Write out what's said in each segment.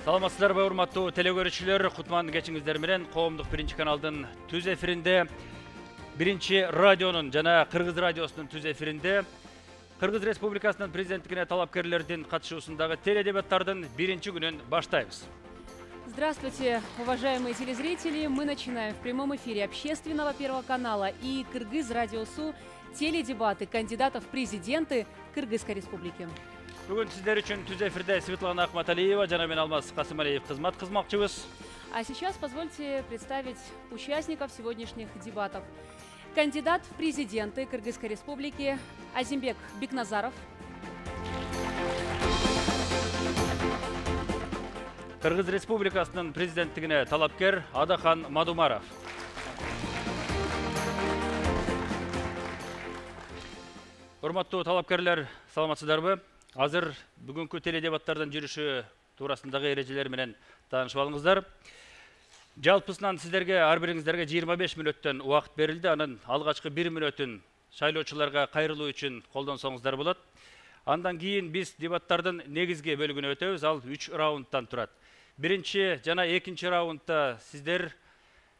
Саламатсыздарбы, урматтуу телекөрүүчүлөр, кутман кечиңиздер менен Коомдук биринчи каналдын түз эфиринде, биринчи радионун жана Кыргыз радиосунун түз эфиринде Кыргыз Республикасынын президенттигине талапкерлердин катышуусундагы теледебаттардын биринчи күнүн баштайбыз. Здравствуйте, уважаемые телезрители! Мы начинаем в прямом эфире общественного Первого канала и Кыргыз радиосу теледебаты кандидатов в президенты Кыргызской республики. Бүгүн сиздер үчүн түз эфирде Светлана Ахматалиева жана мен Алмаз Касымалиев кызмат кылмакчыбыз. А сейчас позвольте представить участников сегодняшних дебатов. Кандидат в президенты Кыргызской республики Азимбек Бекназаров. Кыргыз республикасынын президенттигине талапкер Адахан Мадумаров. Урматтуу талапкерлер, саламатсыздарбы? Азыр бүгүнкү теледебаттардын жүрүшү туурасындагы эрежелер менен таанышып алыңыздар. Жалпысынан сиздерге ар бириңиздерге 25 мүнөттөн убакыт берилди. Анын алгачкы 1 мүнөтүн шайлоочуларга кайрылуу үчүн колдонсоңуздар болот. Андан кийин биз дебаттардын негизги бөлүгүнө өтөбүз. Ал 3 раундтан турат. Биринчи жана экинчи раундда сиздер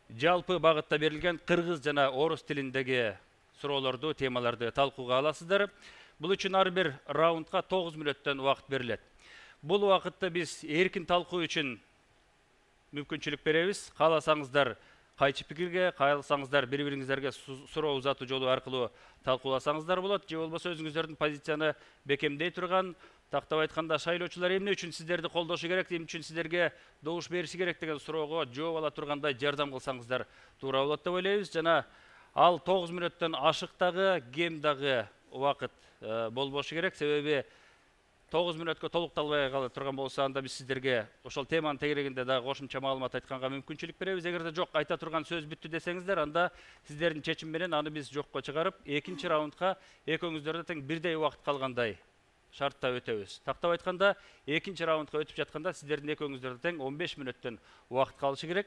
жалпы багытта берилген кыргыз жана орус тилиндеги суроолорду, темаларды талкууга аласыздар. Бул үчүн ар бир раундга 9 мүнөттөн убакыт берилет. Бул убакытты биз эркин талкуу үчүн мүмкүнчүлүк беребиз. Кааласаңыздар кайчы пикирге, кааласаңыздар бири-бириңиздерге суроо узатуу жолу аркылуу талкууласаңыздар болот. Же болбосо өзүңүздөрдүн позицияны бекемдей турган, тактап айтканда шайлоочулар эмне үчүн сиздерди колдошу керек, эмне үчүн сиздерге добуш бериши керек деген суроого жооп ала тургандай жардам кылсаңыздар туура болот деп ойлойбуз. Жана ал 9 мүнөттөн ашык дагы, кем дагы убакыт болбошу керек. Себеби 9 мүнөткө толукталбай кала турган болсо, анда биз сиздерге ошол теманын тегерегинде дагы кошумча маалымат айтканга мүмкүнчүлүк беребиз. Эгерде жок, айта турган сөз бүттү десеңиздер, анда сиздердин чечим менен аны биз жокко чыгарып, экинчи раундга экөөңүздөрдө тең бирдей убакыт калгандай шартта өтөбүз. Тактап айтканда, экинчи раундга өтүп жатканда сиздердин экөөңүздөрдө тең 15 мүнөттөн убакыт калышы керек.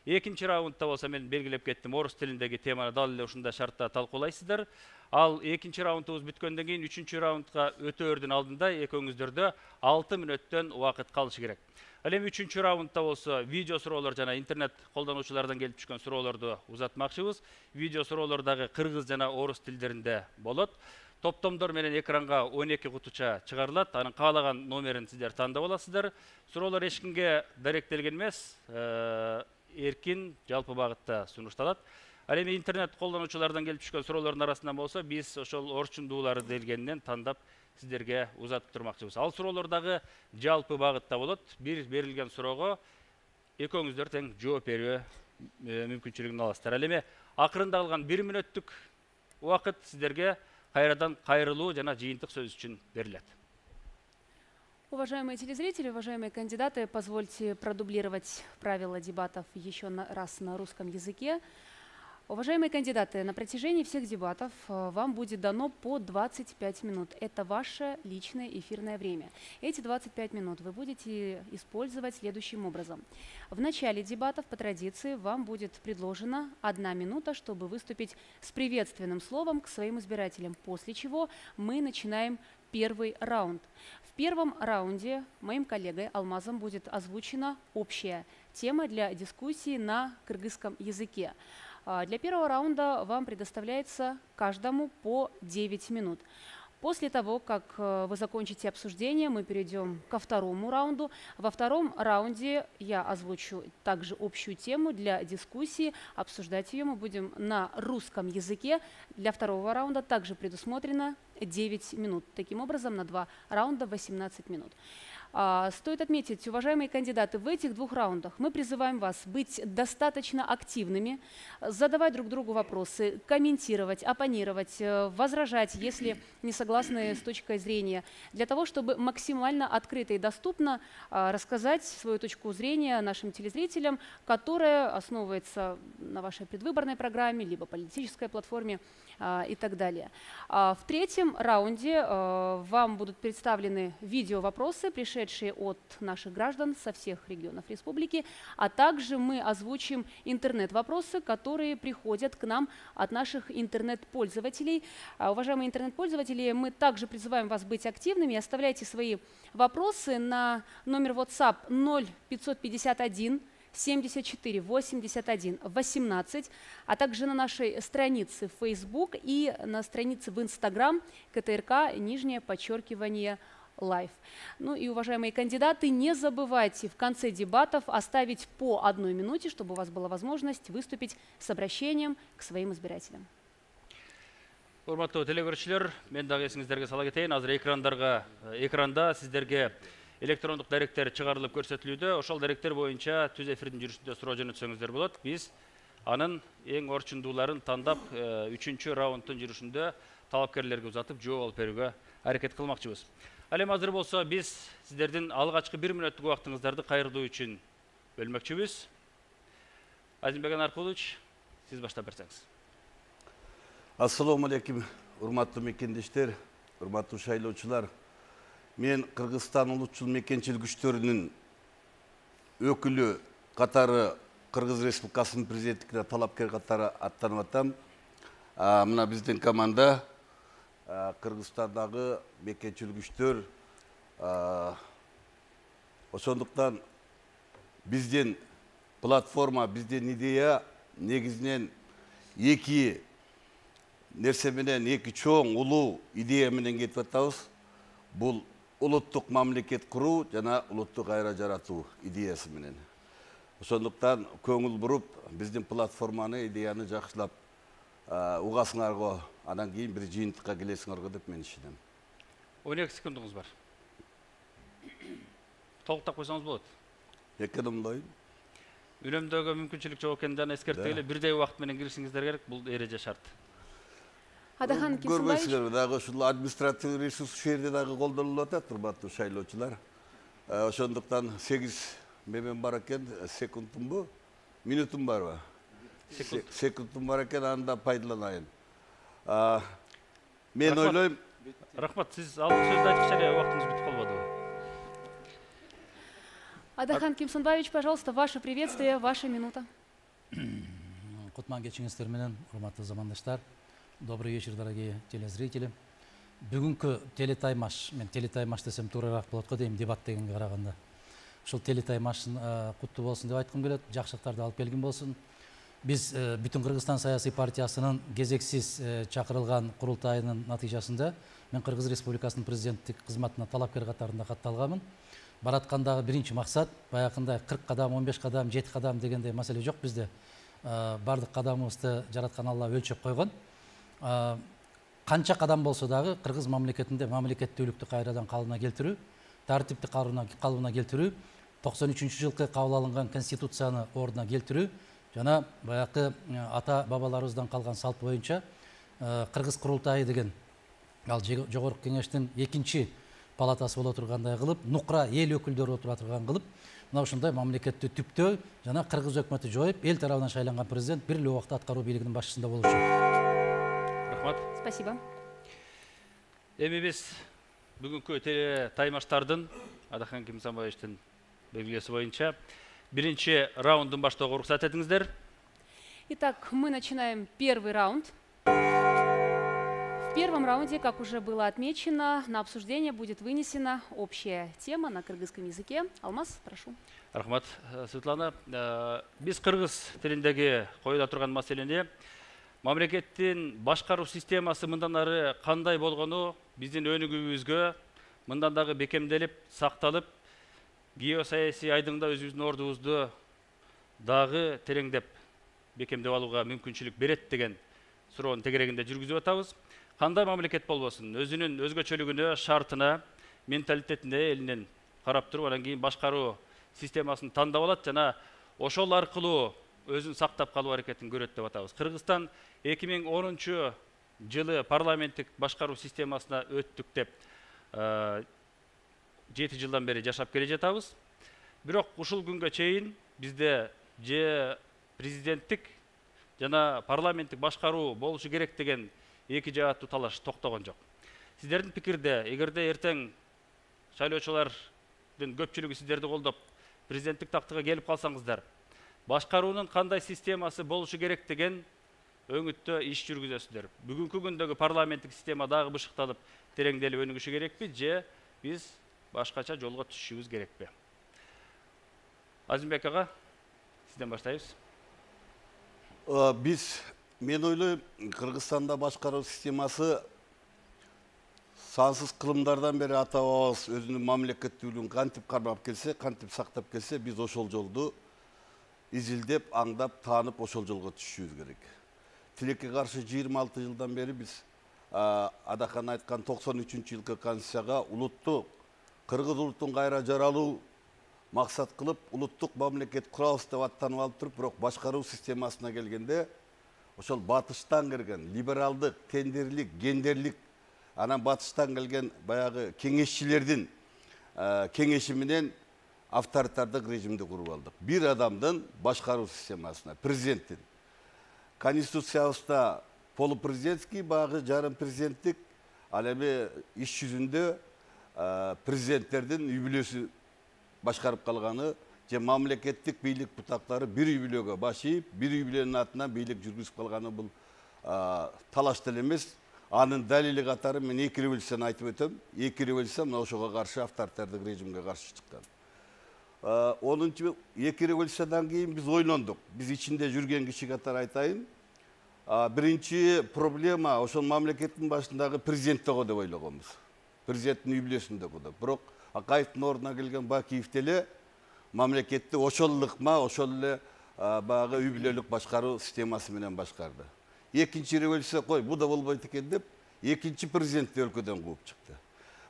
Экинчи раундда болсо мен белгилеп кеттим, орус тилиндеги теманы дал эле ушундай шартта талкуулайсыздар. Ал экинчи раундубуз бүткөндөн кийин 3-чү раундга өтөөрдүн алдында экөөңүздөрдө 6 мүнөттөн убакыт калышы керек. Ал эми 3-чү раундда болсо видео суроолор жана интернет колдонуучулардан келип түшкөн суроолорду узатмакчыбыз. Видео суроолор дагы кыргыз жана орус тилдеринде болот. Топтомдор менен экранга 12 кутуча чыгарылат. Анын каалаган номерин сиздер тандап аласыздар. Суроолор эч кимге даректелген эмес, эркин жалпы багытта сунушталат. Ал эми интернет колдонуучулардан келип түшкөн суроолордун арасынан болсо, биз ошол орчундуулары делгенинен тандап сиздерге узатып турмакчыбыз. Ал суроолор дагы жалпы багытта болот. Бир берилген суроого экөөңүздөр тең жооп берүү мүмкүнчүлүгүн аласыздар. Ал эми акырында калган 1 мүнөттүк убакыт сиздерге кайрадан кайрылуу жана жыйынтык сөз үчүн берилет. Уважаемые телезрители, уважаемые кандидаты, позвольте продублировать правила дебатов еще раз на русском языке. Уважаемые кандидаты, на протяжении всех дебатов вам будет дано по 25 минут. Это ваше личное эфирное время. Эти 25 минут вы будете использовать следующим образом. В начале дебатов, по традиции, вам будет предложена 1 минута, чтобы выступить с приветственным словом к своим избирателям, после чего мы начинаем первый раунд. В первом раунде моим коллегой Алмазом будет озвучена общая тема для дискуссии на кыргызском языке. Для первого раунда вам предоставляется каждому по 9 минут. После того, как вы закончите обсуждение, мы перейдем ко второму раунду. Во втором раунде я озвучу также общую тему для дискуссии. Обсуждать ее мы будем на русском языке. Для второго раунда также предусмотрено 9 минут. Таким образом, на 2 раунда 18 минут. Стоит отметить, уважаемые кандидаты, в этих 2 раундах мы призываем вас быть достаточно активными, задавать друг другу вопросы, комментировать, оппонировать, возражать, если не согласны с точкой зрения, для того, чтобы максимально открыто и доступно рассказать свою точку зрения нашим телезрителям, которая основывается на вашей предвыборной программе, либо политической платформе и так далее. В третьем раунде вам будут представлены видео-вопросы, пришедшие пришедшие от наших граждан со всех регионов республики, а также мы озвучим интернет-вопросы, которые приходят к нам от наших интернет-пользователей. Уважаемые интернет-пользователи, мы также призываем вас быть активными. Оставляйте свои вопросы на номер WhatsApp 0551 74 81 18, а также на нашей странице в Facebook и на странице в Instagram _Live. Ну и, уважаемые кандидаты, не забывайте в конце дебатов оставить по 1 минуте, чтобы у вас была возможность выступить с обращением к своим избирателям. Урматтуу телекөрүүчүлөр, мен дагы эсиңиздерге сала кетейин. Азыр экранда сиздерге электрондук даректер чыгарылып көрсөтүлүүдө. Ошол даректер боюнча түз эфирдин жүрүшүндө суроо жөнөтсөңүздөр болот. Биз анын эң орчундууларын тандап 3-чү раунддун жүрүшүндө талапкерлерге узатып жооп алып берүүгө аракет кылмакчыбыз. Ал эми азыр болсо биз сиздердин алгачкы 1 мүнөттүк убактыңыздарды кайрылуу үчүн бөлмөкчүбүз. Азимбек Анаркулович, сиз баштап берсеңиз. Ассаламу алейкум, урматтуу мекендештер, урматтуу шайлоочулар. Мен Кыргызстан улутчул мекенчилик күчтөрүнүн өкүлү катары Кыргыз Республикасынын президенттигине талапкер катары аттанып атам. Мына биздин команда Кыргызстандагы мекенчилик күчтөр. Ошондуктан биздин платформа, биздин идея негизинен эки нерсе менен, эки чоң улуу идея менен кетип атабыз. Бул улуттук мамлекет куруу жана улуттук айра жаратуу идеясы менен. Ошондуктан көңүл буруп, биздин платформаны, идеяны жакшылап угасыңарго, анан кийин бир жыйынтыкка келесиңерго деп мен ишенем. 12 секундуңуз бар. Толуктап койсоңуз болот. Экономдойм. Үнөмдөгө мүмкүнчүлүк жок экендигин эскертели, бирдей убакыт менен киришиңиздер керек. Бул эреже шарт. Адахан Кимсанбаевич. Көрбөйсүздөр, дагы ушул административдик ресурс ушул жерде дагы колдонулуп атат, урматтуу шайлоочулар. Ошондуктан 8 мемен бар экен, секундумбу? Минутум барбы? Секундум бар экен, анда пайдаланайын. Мен ойлойм. Рахмат, сиз алдын сөздү айткыча эле убактыңыз бүтүп калбадыбы? Адахан Кимсанбаевич, пожалуйста, ваше приветствие, ваша минута. Кутман кечиңиздер менен, урматтуу замандаштар. Добрый вечер, дорогие телезрители. Бүгүнкү телетаймаш, мен телетаймаш десем туурараак болот го дейм, дебат дегенге караганда. Ушул телетаймаштын куттуу болсун деп айткым келет, жакшылыктарды алып келген болсун. Биз бүтүн Кыргызстан саясий партиясынын кезексиз чакырылган курултайынын натыйжасында мен Кыргыз Республикасынын президенттик кызматына талапкер катарында катталганмын. Бараткандагы биринчи максат баягындай 40 кадам, 15 кадам, 7 кадам дегендей маселе жок бизде. Бардык кадамыбызды жараткан Алла өлчөп койгон. Канча кадам болсо дагы Кыргыз мамлекетинде мамлекеттүүлүктү кайрадан калыбына келтирүү, тартипти калыбына келтирүү, 93-жылкы кабыл алынган конституцияны ордуна келтирүү жана баягы ата бабаларыбыздан калган салт боюнча Кыргыз курултайы деген ал жогорку кеңештин 2-чи палатасы боло тургандай кылып, нукра эл өкүлдөрү отура турган кылып, мына ушундай мамлекетти түптөө жана Кыргыз өкмөтү жоюп, эл тарабынан шайланган президент бир эле убакта аткаруу бийлигинин башчысында болушу. Рахмат. Спасибо. Эми биз бүгүнкү телетаймаштардын Адахан Кимсанбаевичтин белгилеси боюнча биринчи раундун баштоого уруксат этиңиздер. Итак, мы начинаем первый раунд. В первом раунде, как уже было отмечено, на обсуждение будет вынесена общая тема на кыргызском языке. Алмаз, прошу. Рахмат, Светлана. Биз кыргыз тилиндеги коюла турган маселени мамлекеттин башкаруу системасы мындан ары кандай болгону биздин өнүгүүбүзгө мындан дагы бекемделип, сакталып, геосаясий айдыңда өзүбүздүн ордубузду дагы тереңдеп, бекемдеп алууга мүмкүнчүлүк берет деген суроонун тегерегинде жүргүзүп атабыз. Кандай мамлекет болбосун, өзүнүн өзгөчөлүгүнө, шартына, менталитетине элинен карап туруп, анан кийин башкаруу системасын тандап алат жана ошол аркылуу өзүн сактап калуу аракетин көрөт деп атабыз. Кыргызстан 2010 жылы парламенттик башкаруу системасына өттүк деп 7 жылдан бери жашап келе жатабыз. Бирок ушул күнгө чейин бизде же президенттик жана парламенттик башкаруу болушу керек деген эки жааттуу талаш токтогон жок. Сиздердин пикирде, эгерде эртең шайлоочулар көпчүлүгү сиздерди колдоп президенттик тактыга келип калсаңыздар, башкаруунун кандай системасы болушу керек деген өңүттө иш жүргүзөсүздөр. Бүгүнкү күндөгү парламенттик система дагы бышыкталып, тереңделип өнүгүшү керекпи же биз башкача жолго түшүшүбүз керекпи? Азимбек ага, сизден баштайбыз. Мен ойлойм, Кыргызстанда башкаруу системасы сансыз кылымдардан бери ата бабабыз өзүнүн мамлекеттүүлүгүн кантип кармап келсе, кантип сактап келсе, биз ошол жолду изилдеп, аңдап, таанып ошол жолго түшүшүбүз керек. Тилекке каршы 26 жылдан бери биз Адахан айткан 93-жылкы конституцияга улуттук кыргыз улутун кайра жаралуу максат кылып, улуттук мамлекет курабыз деп аттанып алып туруп, бирок башкаруу системасына келгенде ошол батыштан кирген либералдык, тендерлик, гендерлик, анан батыштан келген баягы кеңешчилердин кеңеши менен авторитардык режимди куруп алдык. Бир адамдын башкаруу системасына, президенттин. Конституциябызда полупрезидентский, баягы жарым президенттик, ал эми иш жүзүндө президенттердин үй бүлөсү башкарып калганы же мамлекеттик бийлик бутактары бир үй бүлөгө баш ийип, бир үй бүлөнүн атынан бийлик жүргүзүп калганы бул талаш деле эмес. Анын далили катары мен 2 революцияны айтып өтөм. 2 революция мына ошого каршы авторитардык режимге каршы чыккан. 2 революциядан кийин биз ойлондук. Биз ичинде жүрген киши катары айтайын. Биринчи проблема ошол мамлекеттин башындагы президенттего деп ойлогонбуз. Президенттин үй бүлөсүндөгү да. Бирок Акаевдин ордуна келген Бакиев деле мамлекетти ошол ыкма, ошол эле баягы үй бүлөлүк башкаруу системасы менен башкарды. Экинчи революция бу да болбойт экен деп, экинчи президентти өлкөдөн кууп чыкты.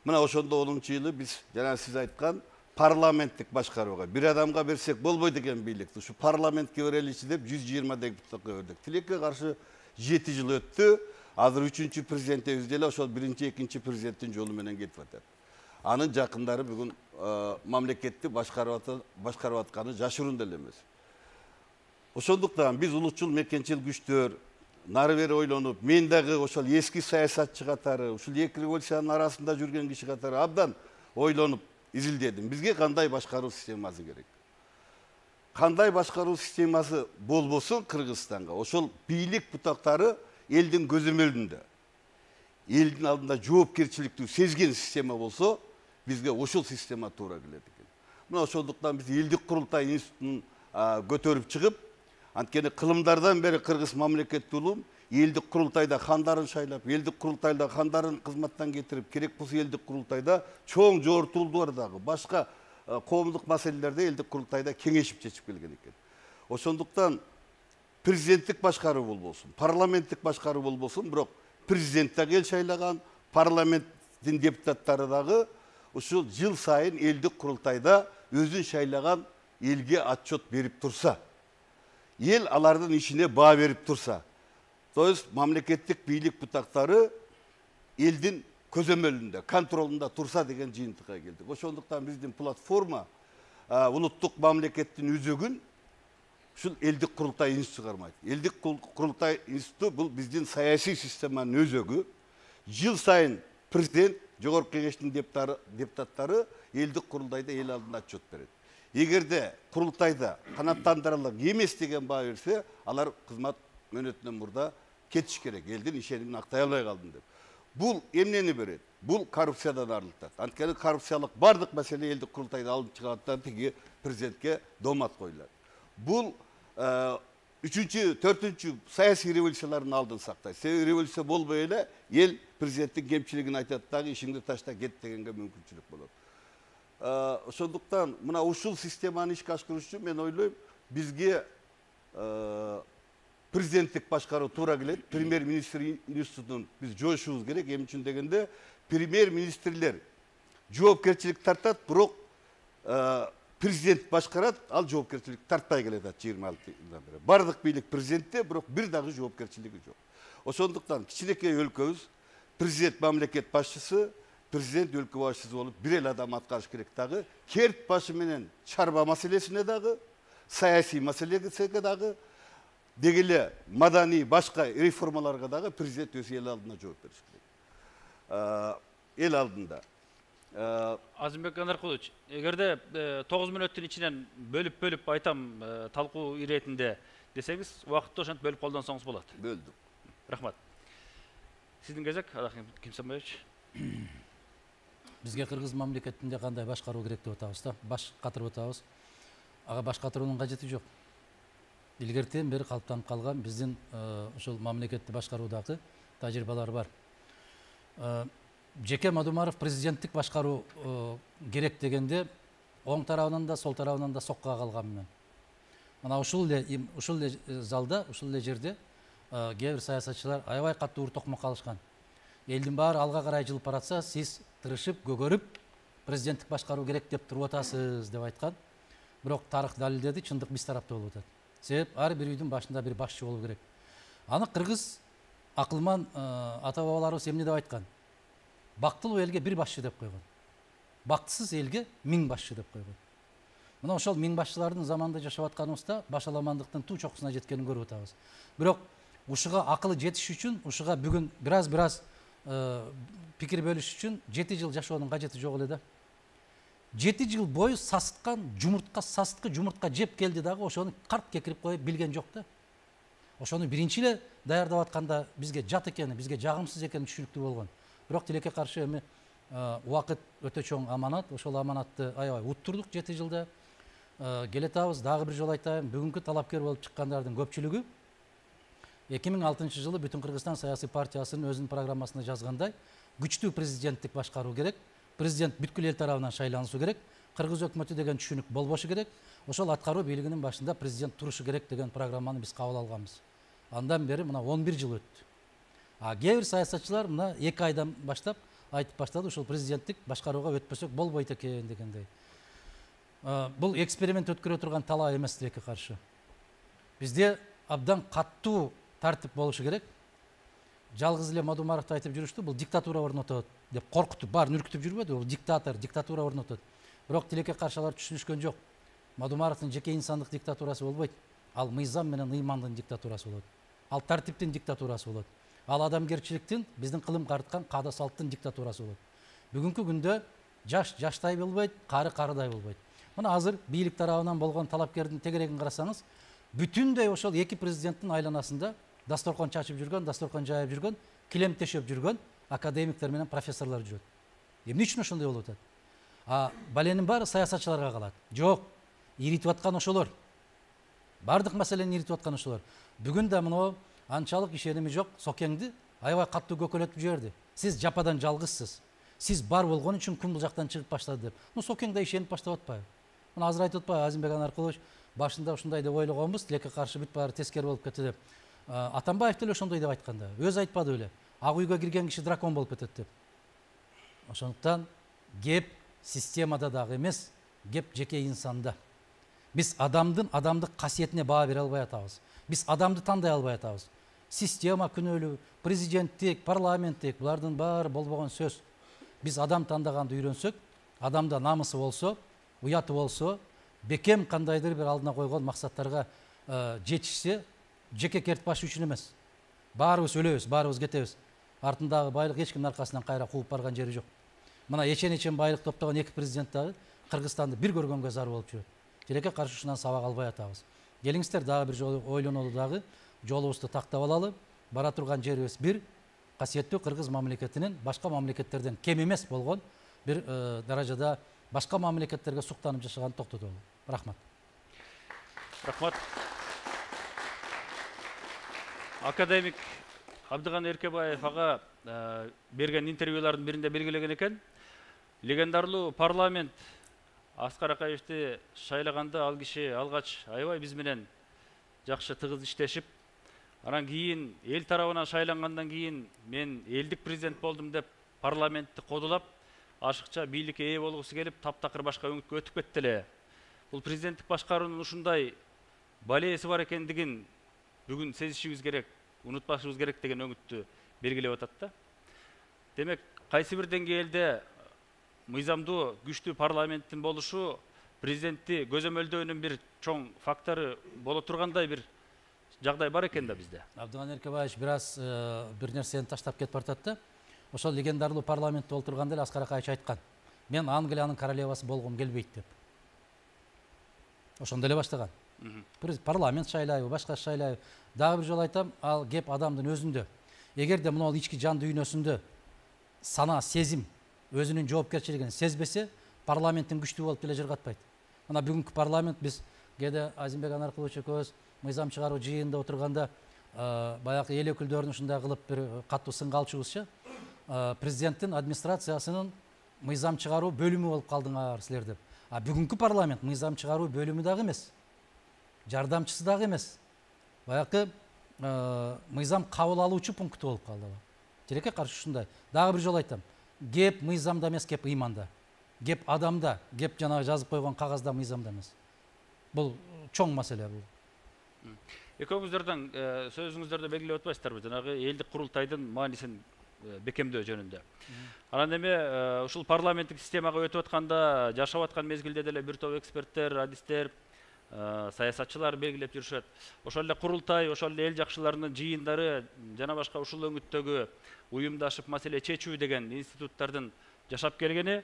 Мына ошондо 10-жылы биз жана сиз айткан парламенттик башкарууга бир адамга берсек болбойт экен бийликти. Ушу парламентке береличи деп 120 депутатка бердик. Тилекке каршы 7 жыл өттү. Азыр 3-чү президентибиз деле ошол 1-2 президенттин жолу менен кетип атат. Анын жакындары бүгүн мамлекетти башкарып атканы жашыруун деле эмес. Ошондуктан биз улутчул мекенчил күчтөр нары бери ойлонуп, мен дагы ошол эски саясатчы катары, ушул 2 революциянын арасында жүрген киши катары абдан ойлонуп изилдедим. Бизге кандай башкаруу системасы керек? Кандай башкаруу системасы болбосун Кыргызстанга? Ошол бийлик бутактары элдин көзөмөлүндө, элдин алдында жоопкерчиликтүү сезген система болсо, бизге ошол система туура келет экен. Мына ошондуктан биз элдик курултай институтун көтөрүп чыгып, анткени кылымдардан бери кыргыз мамлекеттүү улум элдик курултайда хандарын шайлап, элдик курултайда хандарын кызматтан кетирип, керек болсо элдик курултайда чоң жогортуулдардагы башка коомдук маселелерде элдик курултайда кеңешип чечип келген экен. Ошондуктан президенттик башкаруу болбосун, парламенттик башкаруу болбосун, бирок президент дагы эл шайлаган, парламенттин депутаттары дагы ушул жыл сайын элдик курултайда өзүн шайлаган элге отчет берип турса, ел алардын ишине баа берип турса, то есть мамлекеттик бийлик бутактары элдин көзөмөлүндө, контролунда турса деген жыйынтыкка келдик. Ошондуктан биздин платформа улуттук мамлекеттин үзөгүн ушул элдик курултай институту кармайт. Элдик курултай институту бул биздин саясий системанын өзөгү. Жыл сайын президент, жогорку кеңештин депутаттары элдик курултайда эл алдында отчет берет. Эгерде курултайда канааттандырылык эмес деген баа берсе, алар кызмат мөөнөтүнөн мурда кетиш керек. Элдин ишенимин актай албай калдым деп. Бул эмнени берет? Бул коррупциядан арылтат. Анткени коррупциялык бардык маселе элдик курултайда алынып чыгаттан тиги президентке домат коюлат. Бул 3-чү, 4-чү саясий революциялардын алдын сактайт. Себеби революция болбой эле эл президенттин кемчилигин айтат дагы ишиңди ташта кет дегенге мүмкүнчүлүк болот. Ошондуктан мына ушул системаны ишке ашыруу үчүн мен ойлойм, бизге президенттик башкаруу туура келет. Премьер-министр институтун биз жоюшубуз керек. Эмне үчүн дегенде, премьер-министрлер жоопкерчилик тартат, бирок президент башкарат, ал жоопкерчилик тартпай келет 26 жылдан бери. Бардык бийлик президентте, бирок бир дагы жоопкерчилиги жок. Ошондуктан кичинекей өлкөбүз президент мамлекет башчысы, президент өлкө башчысы болуп бир эл адам аткарыш керек дагы, керт башы менен чарба маселесине дагы, саясий маселеге дагы, деги эле маданий башка реформаларга дагы президент өз эл алдына жооп бериш керек. Эл алдында. Азымбек Анаркулович, эгерде 9 мүнөттүн ичинен бөлүп айтам талкуу иретинде десеңиз, убакытты ошентип бөлүп колдонсоңуз болот. Бөлдүк. Рахмат. Сиздин кезек, Алаким Кимсанбаевич. Бизге кыргыз мамлекетинде кандай башкаруу керек деп атабыз да, баш катырып атабыз. Ага баш катыруунун кажети жок. Илгертен бери калыптанып калган биздин ошол мамлекетти башкаруудагы тажрыйбалар бар. Жеке Мадумаров президенттик башкаруу керек дегенде оң тарабынан да сол тарабынан да соккуга калган мен. Мына ушул эле залда, ушул эле жерде кээ бир саясатчылар аябай катуу ур токмок калышкан. Элдин баары алга карай жылып баратса, сиз тырышып, көгөрүп президенттик башкаруу керек деп туруп атасыз деп айткан. Бирок тарых далилдеди, чындык биз тарапта болуп атат. Себеп ар бир үйдүн башында бир башчы болуу керек. Аны кыргыз акылман ата бабаларыбыз эмне деп айткан? Бактылуу элге бир башчы деп койгон. Бактысыз элге 1000 башчы деп койгон. Мына ошол 1000 башчылардын заманында жашап атканыбызда башаламандыктын туу чокусуна жеткенин көрүп атабыз. Бирок ушуга акылы жетиш үчүн, ушуга бүгүн бир аз пикир бөлүш үчүн 7 жыл жашоонун кажети жок эле да. 7 жыл бою сасыткан сасыткы жумуртка жеп келди дагы ошону карт кекирип коюп билген жок да. Ошону биринчи эле даярдап атканда бизге жат экени, бизге жагымсыз экени түшүнүктүү болгон. Бирок тилекке каршы эми убакыт өтө чоң аманат, ошол аманатты аябай уттурдук 7 жылда. Келетабыз, дагы бир жолу айтайын, бүгүнкү талапкер болуп чыккандардын көпчүлүгү 2006 жылы Бүтүн Кыргызстан саясий партиясынын өзүнүн программасында жазгандай, күчтүү президенттик башкаруу керек, президент бүткүл эл тарабынан шайланышуу керек, кыргыз өкмөтү деген түшүнүк болбошу керек, ошол аткаруу бийлигинин башында президент турушу керек деген программаны биз кабыл алганбыз. Андан бери мына 11 жыл өттү. Кээ бир саясатчылар мына 2 айдан баштап айтып баштады, ушул президенттик башкарууга өтпөсөк болбойт экен дегендей. Бул эксперимент өткөрө турган талаа эмес тилекке каршы. Бизде абдан каттуу тартип болушу керек. Жалгыз эле Мадумаровду айтып жүрүштү, бул диктатура орнотот деп коркутуп, баарын үркүтүп жүрбөдү, бул диктатура орнотот. Бирок тилекке каршылар түшүнүшкөн жок. Мадумаровдун жеке инсандык диктатурасы болбойт. Ал мыйзам менен ыймандын диктатурасы болот. Ал тартиптин диктатурасы болот. Ал адамгерчиликтин, биздин кылым карткан каада салттын диктатурасы болот. Бүгүнкү күндө жаш жаштай болбойт, кары карыдай болбойт. Мына азыр бийлик тарабынан болгон талапкердин тегерегин карасаңыз, бүтүндөй ошол 2 президенттин айланасында дасторкон чачып жүргөн, дасторкон жайып жүргөн, килем тешеп жүргөн академиктер менен профессорлор жүрөт. Эмне үчүн ошондой болуп атат? Баленин баары саясатчыларга калат. Жок, иритип аткан ошолор. Бардык маселени иритип аткан ошолор. Бүгүн да мына анчалык ишеними жок Сокеңди аябай каттуу көкөлөтүп жиберди. Сиз жападан жалгызсыз. Сиз бар болгон үчүн кум бул жактан чыгып баштады деп. Сокең да ишенип баштап атпайбы? Мына азыр айтып атпайбы Азимбек Анаркулович, башында ушундай деп ойлогонбуз, тилекке каршы бүт баары тескери болуп кетти деп. Атамбаев деле ошондой деп айтканда, өзү айтпады беле? Ак үйгө кирген киши дракон болуп кетет деп. Ошондуктан кеп системада дагы эмес, кеп жеке инсанда. Биз адамдык касиетине баа бере албай атабыз. Биз адамды тандай албай атабыз. Система күнөөлүү, президенттик, парламенттик, булардын баары болбогон сөз. Биз адам тандаганды үйрөнсөк, адамда намысы болсо, уяты болсо, бекем кандайдыр бир алдына койгон максаттарга жетишсе, жеке керт баш үчүн эмес. Баарыбыз өлөбүз, баарыбыз кетебиз. Артындагы байлык эч кимдин аркасынан кайра кууп барган жери жок. Мына эчен байлык топтогон 2 президент дагы Кыргызстанды бир көргөнгө зар болуп жүрөт. Тилекке каршы ушунан сабак албай атабыз. Келиңиздер дагы бир жолу ойлонолу дагы, жолубузду тактап алалы. Бара турган жерибиз бир, касиеттүү кыргыз мамлекетинин башка мамлекеттерден кем эмес болгон бир даражада башка мамлекеттерге суктанып жашаганды токтотолу. Рахмат. Рахмат. Академик Абдыган Эркебаев ага берген интервьюлардын биринде белгилеген экен. Легендарлуу парламент Аскар Акаевди шайлаганда ал киши алгач аябай биз менен жакшы тыгыз иштешип, анан кийин эл тарабынан шайлангандан кийин мен элдик президент болдум деп парламентти кодулап, ашыкча бийликке ээ болгусу келип, таптакыр башка өңүткө өтүп кетти эле. Бул президенттик башкаруунун ушундай балеси бар экендигин бүгүн сезишибиз керек, унутпашыбыз керек деген өңүттү белгилеп атат да. Демек, кайсы бир деңгээлде мыйзамдуу күчтүү парламенттин болушу президентти көзөмөлдөөнүн бир чоң фактору боло тургандай бир жагдай бар экен да бизде. Абдыган Эркебаевич бир аз бир нерсени таштап кетип атат да. Ошол легендарлуу парламентте олтурганда эле Аскар Акаевич айткан. мен Англиянын королевасы болгум келбейт деп. Ошондо эле баштаган. Парламент шайлайбы, башка шайлайбы. Дагы бир жолу айтам, ал кеп адамдын өзүндө. Эгерде мына ички жан дүйнөсүндө сана, сезим, өзүнүн жоопкерчилигин сезбесе, парламенттин күчтүү болуп деле жыргатпайт. Мына бүгүнкү парламент биз кээде Азимбек Анаркулович экөөбүз мыйзам чыгаруу жыйынында отурганда баягы эл өкүлдөрүн ушундай кылып бир катуу сынга алчубузчу. Президенттин администрациясынын мыйзам чыгаруу бөлүмү болуп калдыңар силер деп. А бүгүнкү парламент мыйзам чыгаруу бөлүмү дагы эмес. Жардамчысы дагы эмес. Баягы мыйзам кабыл алуучу пункту болуп калды. Тилекке каршы ушундай. Дагы бир жолу айтам. Кеп мыйзамда эмес, кеп ыйманда. Кеп адамда, кеп жанагы жазып койгон кагазда мыйзамда эмес. Бул чоң маселе бул. Экөөңүздөрдөн сөзүңүздөрдө белгилеп атпайсыздарбы жанагы элдик курултайдын маанисин бекемдөө жөнүндө. Анан эми ушул парламенттик системага өтүп атканда, жашап аткан мезгилде деле бир топ эксперттер, адистер, саясатчылар белгилеп жүрүшөт. Ошол эле курултай, ошол эле эл жакшыларынын жыйындары жана башка ушул өңүттөгү уюмдашып маселе чечүү деген институттардын жашап келгени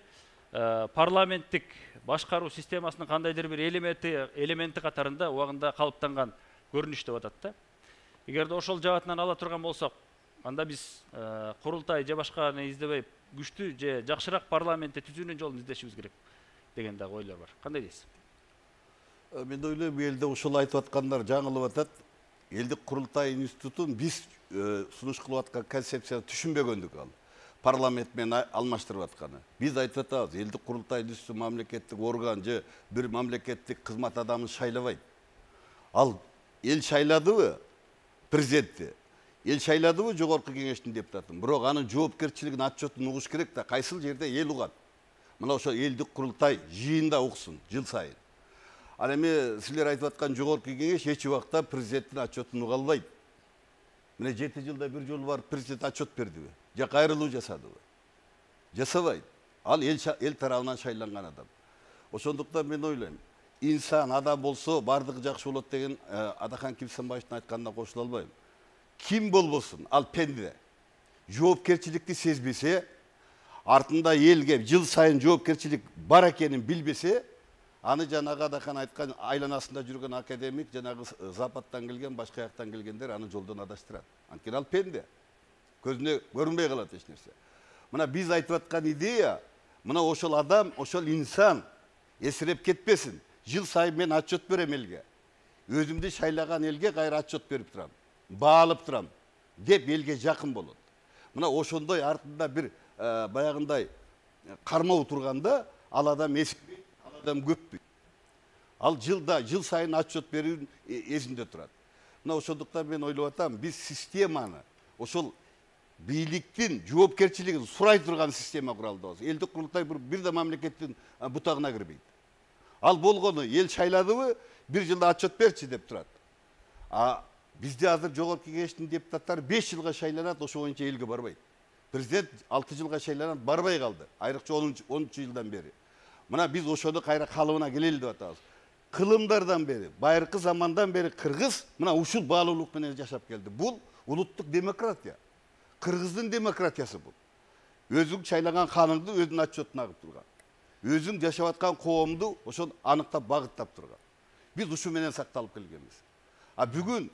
парламенттик башкаруу системасынын кандайдыр бир элементи катарында убагында калыптанган көрүнүш деп атат да. Эгерде ошол жаатынан ала турган болсок, анда биз курултай же башканы издебей күчтүү же жакшыраак парламентти түзүүнүн жолун издешибиз керек деген дагы ойлор бар. Кандай дейсиз? Мен ойлойм, элде ушул айтып аткандар жаңылып атат. Элдик курултай институтун биз сунуш кылып аткан концепцияны түшүнбөгөндүк ал. Парламент менен алмаштырып атканы. Биз айтып атабыз, элдик курултай институту мамлекеттик орган же бир мамлекеттик кызмат адамын шайлабайт. Ал эл шайладыбы президентти? Эл шайладыбы жогорку кеңештин депутатын? Бирок анын жоопкерчилигин, отчетун угуш керек да, кайсыл жерде эл угат. Мына ошо элдик курултай жыйында уксун жыл сайын. Ал эми силер айтып аткан жогорку кеңеш эч убакта президенттин отчетун уга албайт. Мына 7 жылда бир жолу барып президент отчет бердиби? Же кайрылуу жасадыбы? Жасабайт. Ал эл тарабынан шайланган адам. Ошондуктан мен ойлойм, инсан адам болсо бардыгы жакшы болот деген Адахан Кимсанбаевдин айтканына кошула албайм. Ким болбосун, ал пенде. Жоопкерчиликти сезбесе, артында элге жыл сайын жоопкерчилик бар экенин билбесе, аны жанагы Адахан айткан айланасында жүргөн академик, жанагы Западтан келген, башка жактан келгендер аны жолдон адаштырат. Анткени ал пенде. Көзүнө көрүнбөй калат эч нерсе. Мына биз айтып аткан идея, мына ошол адам, ошол инсан эсиреп кетпесин. Жыл сайын мен отчет берем элге. Өзүмдү шайлаган элге кайра отчет берип турам. Баалып турам деп элге жакын болот. Мына ошондой артында бир баягындай кармоо турганда ал адам эскибейт, ал адам көппүйт. Ал жыл сайын отчет берүү эсинде турат. Мына ошондуктан мен ойлоп атам, биз системаны, ошол бийликтин жоопкерчилигин сурай турган система куралдыбыз. Элдик курултай бир да мамлекеттин бутагына кирбейт. Ал болгону эл шайладыбы, бир жылда отчет берчи деп турат. Бизде азыр жогорку кеңештин депутаттары 5 жылга шайланат, ошо боюнча элге барбайт. Президент 6 жылга шайланат, барбай калды. Айрыкча 10 жылдан бери. Мына биз ошону кайра калыбына келели деп атабыз. Кылымдардан бери, байыркы замандан бери кыргыз мына ушул баалуулук менен жашап келди. Бул улуттук демократия. Кыргыздын демократиясы бул. Өзүң шайлаган ханыңды өзүнүн отчетуна агып турган. Өзүң жашап аткан коомду ошол аныктап багыттап турган. Биз ушу менен сакталып келгенбиз. Бүгүн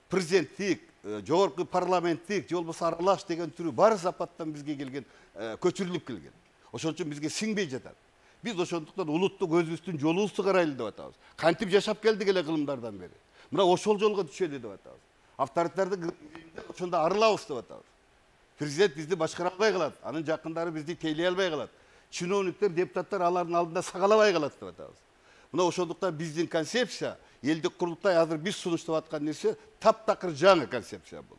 президенттик, жогорку парламенттик, же болбосо аралаш деген түрү баары Западтан бизге келген, көчүрүлүп келген. Ошон үчүн бизге сиңбей жатат. Биз ошондуктан улуттук өзүбүздүн жолубузду карайлы деп атабыз. Кантип жашап келдик эле кылымдардан бери. Мына ошол жолго түшөлү деп атабыз. Авторитардык ошондо арылабыз деп атабыз. Президент бизди башкара албай калат, анын жакындары бизди тейлей албай калат. Чиновниктер, депутаттар алардын алдында сагалабай калат деп атабыз. Мына ошондуктан биздин концепция, элдик курултай азыр биз сунуштап аткан нерсе таптакыр жаңы концепция бул.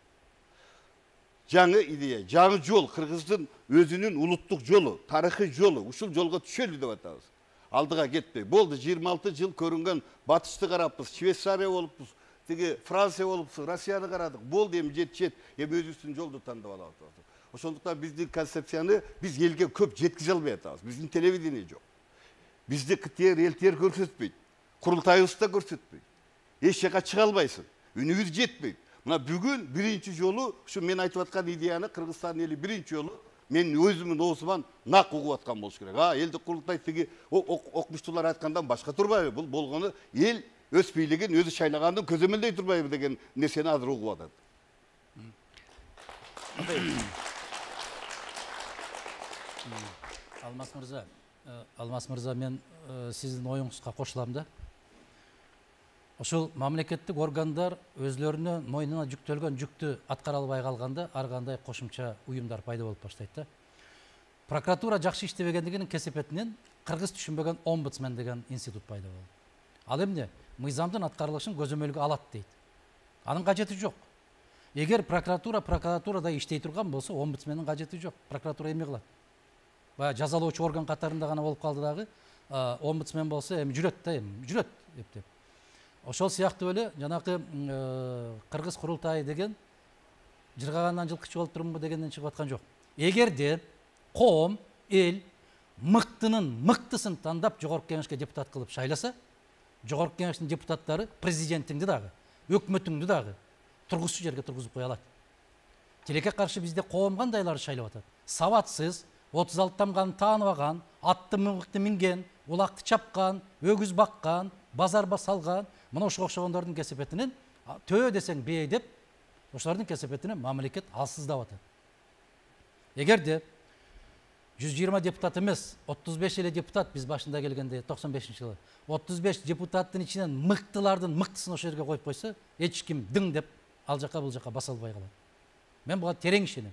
Жаңы идея, жаңы жол, кыргыздын өзүнүн улуттук жолу, тарыхый жолу, ушул жолго түшөлү деп атабыз. Алдыга кетпей. Болду 26 жыл көрүнгөн батышты карапбыз, Швейцария болупбуз, тиги Франция болупбуз, Россияны карадык. Болду эми жетишет, эми өзүбүздүн жолду тандап алабыз. Ошондуктан биздин концепцияны биз элге көп жеткизе албай атабыз. Биздин телевидение жок. Бизди элтер көрсөтпөйт. Курултайыбыз да көрсөтпөйт. Эч жака чыга албайсың. Үнүбүз жетпейт. Мына бүгүн биринчи жолу ушу мен айтып аткан идеяны Кыргызстан эли биринчи жолу мен өзүмдүн оозуман нак угуп аткан болуш керек. Элдик курултай тиги окумуштуулар айткандан башка турбайбы? Бул болгону эл өз бийлигин өзү шайлаганды көзөмөлдөй турбайбы деген нерсени азыр угуп атат. Алмаз мырза, мен сиздин оюңузга кошулам да. Ошол мамлекеттик органдар өзлөрүнө мойнуна жүктөлгөн жүктү аткара албай калганда ар кандай кошумча уюмдар пайда болуп баштайт да. Прокуратура жакшы иштебегендигинин кесепетинен кыргыз түшүнбөгөн омбудсмен деген институт пайда болду. Ал эмне? Мыйзамдын аткарылышын көзөмөлгө алат дейт. Анын кажети жок. Эгер прокуратурада иштей турган болсо, омбудсмендин кажети жок. Прокуратура эмне кылат? Баягы жазалоочу орган катарында гана болуп калды дагы, омбудсмен болсо эми жүрөт да, эми жүрөт деп. Ошол сыяктуу эле жанакы кыргыз курултайы деген жыргагандан жылкычы болуп турумбу дегенден чыгып аткан жок. Эгерде коом, эл мыктынын мыктысын тандап жогорку кеңешке депутат кылып шайласа, жогорку кеңештин депутаттары президентиңди дагы, өкмөтүңдү дагы тургузчу жерге тургузуп кое алат. Тилекке каршы бизде коом кандайларды шайлап атат? Сабатсыз, 36 тамганын тааныбаган, атты мыкты минген, улакты чапкан, өгүз баккан, базар басалган, мына ошого окшогондордун кесепетинен төө десең бээ деп, ошолордун кесепетинен мамлекет алсыздап атат. Эгерде 120 депутат эмес, 35 эле депутат биз башында келгенде 95-жылы 35 депутаттын ичинен мыктылардын мыктысын ошол жерге коюп койсо, эч ким дың деп ал жака бул жака баса албай калат. Мен буга терең ишенем.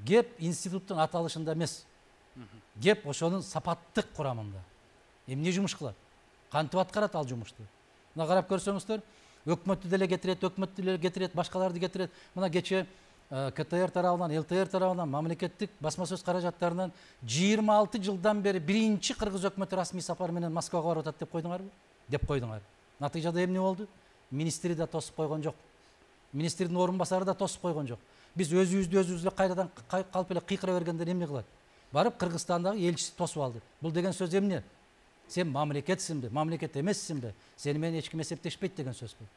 Кеп институттун аталышында эмес, кеп ошонун сапаттык курамында. Эмне жумуш кылат? Кантип аткарат ал жумушту? Мына карап көрсөңүздөр, өкмөттү деле кетирет, башкаларды кетирет. Мына кече КТР тарабынан, ЛТР тарабынан, мамлекеттик басма сөз каражаттарынан 26 жылдан бери биринчи кыргыз өкмөтү расмий сапар менен Москвага барып атат деп койдуңарбы? Деп койдуңар. Натыйжада эмне болду? Министри да тосуп койгон жок. Министрдин орун басары да тосуп койгон жок. Биз өзүбүздү эле кайрадан калп эле кыйкыра бергенде эмне кылат? Барып Кыргызстандагы элчиси тосуп алды. Бул деген сөз эмне? Сен мамлекетсиңби, мамлекет эмессиңби? Сени менен эч ким эсептешпейт деген сөз бул.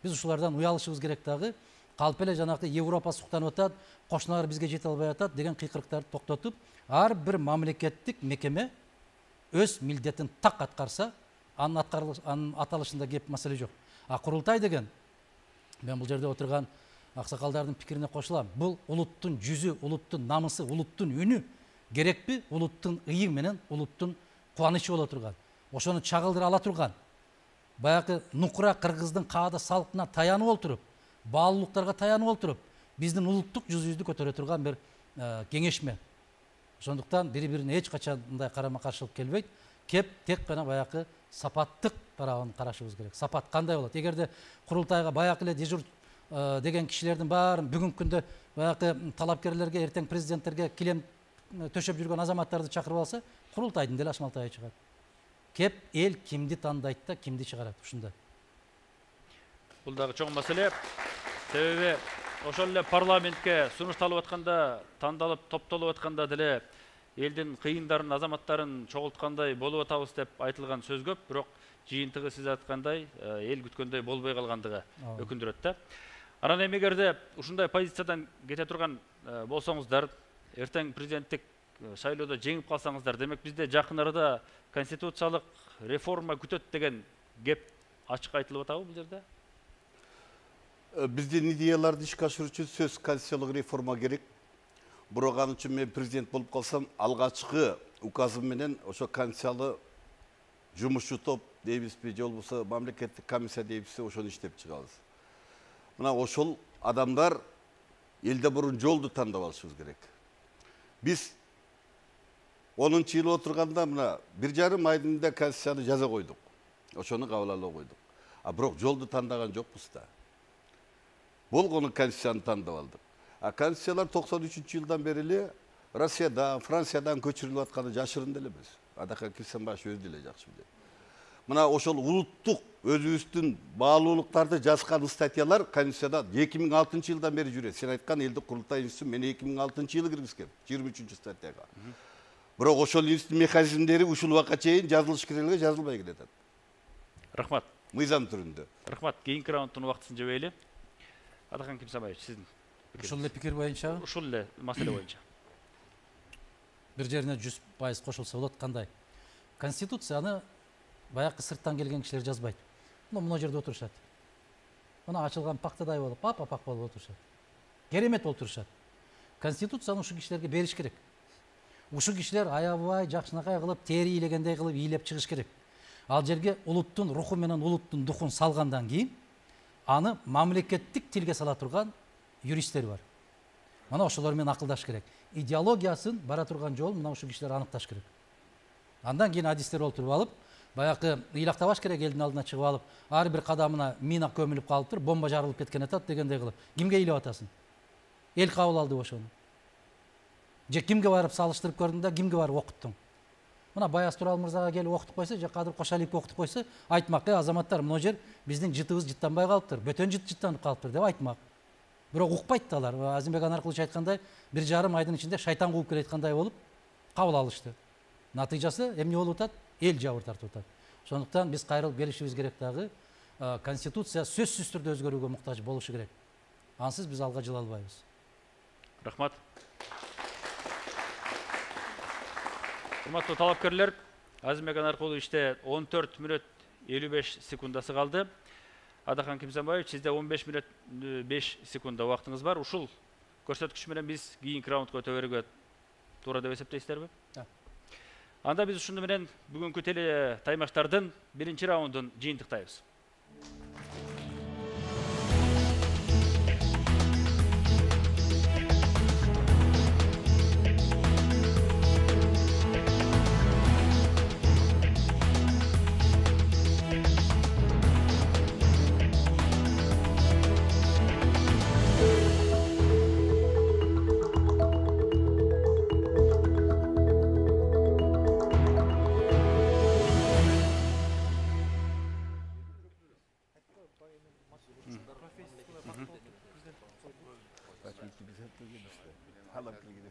Биз ушулардан уялышыбыз керек дагы. Калп эле жанакы Европа суктанып атат, кошуналар бизге жете албай атат деген кыйкырыктарды токтотуп, ар бир мамлекеттик мекеме өз милдетин так аткарса, анын аталышында кеп маселе жок. А курултай деген, мен бул жерде отурган аксакалдардын пикирине кошулам. Бул улуттун жүзү, улуттун намысы, улуттун үнү керекпи? Улуттун ыйы менен улуттун кубанычы боло турган. Ошону чагылдыра ала турган. Баягы нукура кыргыздын каада салкына таянып отуруп, баалуулуктарга таянып отуруп, биздин улуттук жүзүбүздү көтөрө турган бир кеңешме. Ошондуктан бири-бирине эч качан мындай карама-каршылык келбейт. Кеп тек гана баягы сапаттык тарабын карашыбыз керек. Сапат кандай болот? Эгерде курултайга баягы эле дежур деген кишилердин баарын бүгүнкү күндө баягы талапкерлерге, эртең президенттерге килем төшөп жүргөн азаматтарды чакырып алса, курултайдын деле ашмалтайы чыгат. Кеп эл кимди тандайт да, кимди чыгарат ушундай. Бул дагы чоң маселе. Себеби ошол эле парламентке сунушталып атканда, тандалып, топтолуп атканда деле элдин кыйындарын, азаматтарын чогулткандай болуп атабыз деп айтылган сөз көп, бирок жыйынтыгы сиз айткандай эл күткөндөй болбой калгандыгы өкүндүрөт да. Анан эми эгерде ушундай позициядан кете турган болсоңуздар, эртең президенттик шайлоодо жеңип калсаңыздар, демек бизде жакын арада конституциялык реформа күтөт деген кеп ачык айтылып атабы бул жерде? Биздин идеяларды ишке ашыруу үчүн сөз конституциялык реформа керек. Бирок ал үчүн мен президент болуп калсам, алгачкы указым менен ошо конституциялык жумушчу топ дейбизби, же болбосо мамлекеттик комиссия дейбизби, ошону иштеп чыгабыз. Мына ошол адамдар элде бурун жолду тандап алышыбыз керек. Биз 10-жылы отурганда мына 1,5 айдын да конституцияны жаза койдук. Ошону кабыл ала койдук. А бирок жолду тандаган жокпуз да. Болгону конституцияны тандап алдык. А конституциялар 93-жылдан бери эле Россиядан, Франциядан көчүрүлүп атканы жашырын деле эмес. Адака кирсем башы өзү деле жакшы билет. Мына ошол улуттук өзүбүздүн баалуулуктарды жазган статьялар конституцияда 2006-жылдан бери жүрөт. Сен айткан элдик курултай институтун мен 2006-жылы киргизгем, 23-статьяга. Бирок ошол институттун механизмдери ушул убакка чейин жазылыш керекке жазылбай келатат. Рахмат. Мыйзам түрүндө. Рахмат. Кийинки раундтун убактысын жебейли. Атакан Кимсамаевич, сиздин ушул эле пикир боюнча, ушул эле маселе боюнча. бир жерине 100% кошулса болот. Кандай? Конституцияны баягы сырттан келген кишилер жазбайт. Мына жерде отурушат. Мына ачылган пактадай болуп, пак болуп отурушат. Керемет болуп турушат. Конституцияны ушу кишилерге бериш керек. Ушу кишилер аябай жакшынакай кылып, тери ийлегендей кылып ийлеп чыгыш керек. Ал жерге улуттун руху менен улуттун духун салгандан кийин аны мамлекеттик тилге сала турган юристтер бар. Мына ошолор менен акылдаш керек. Идеологиясын бара турган жолун мына ушу кишилер аныкташ керек. Андан кийин адистер олтуруп алып, баягы ыйлактабаш керек, элдин алдына чыгып алып, ар бир кадамына мина көмүлүп калыптыр, бомба жарылып кеткен атат дегендей кылып. Кимге ыйлап атасың? Эл кабыл алды ошону. Же кимге барып салыштырып көрдүң да, кимге барып окуттуң? Мына Баяз Турал мырзага келип окутуп койсо, же Кадыр Кошалиевге окутуп койсо, айтмак: азаматтар, мына жер биздин жытыбыз жыттанбай калыптыр, бөтөн жыттанып калыптыр деп айтмак. Бирок укпайт да алар. Азимбек Анаркулович айткандай, 1,5 айдын ичинде шайтан кууп келаткандай болуп кабыл алышты. Натыйжасы эмне болуп атат? Эл жабыр тартып атат. Ошондуктан биз кайрылып келишибиз керек дагы. Конституция сөзсүз түрдө өзгөрүүгө муктаж болушу керек. Ансыз биз алга жыла албайбыз. Рахмат. Урматтуу талапкерлер, Азимбек Анаркуловичте 14 мүнөт 55 секундасы калды. Адахан Кимсанбаевич, сизде 15 мүнөт 5 секунда убактыңыз бар. Ушул көрсөткүч менен биз кийинки раундга өтө берүүгө туура деп эсептейсиздерби? Анда биз ушуну менен бүгүнкү теле таймаштардын биринчи раундун жыйынтыктайбыз.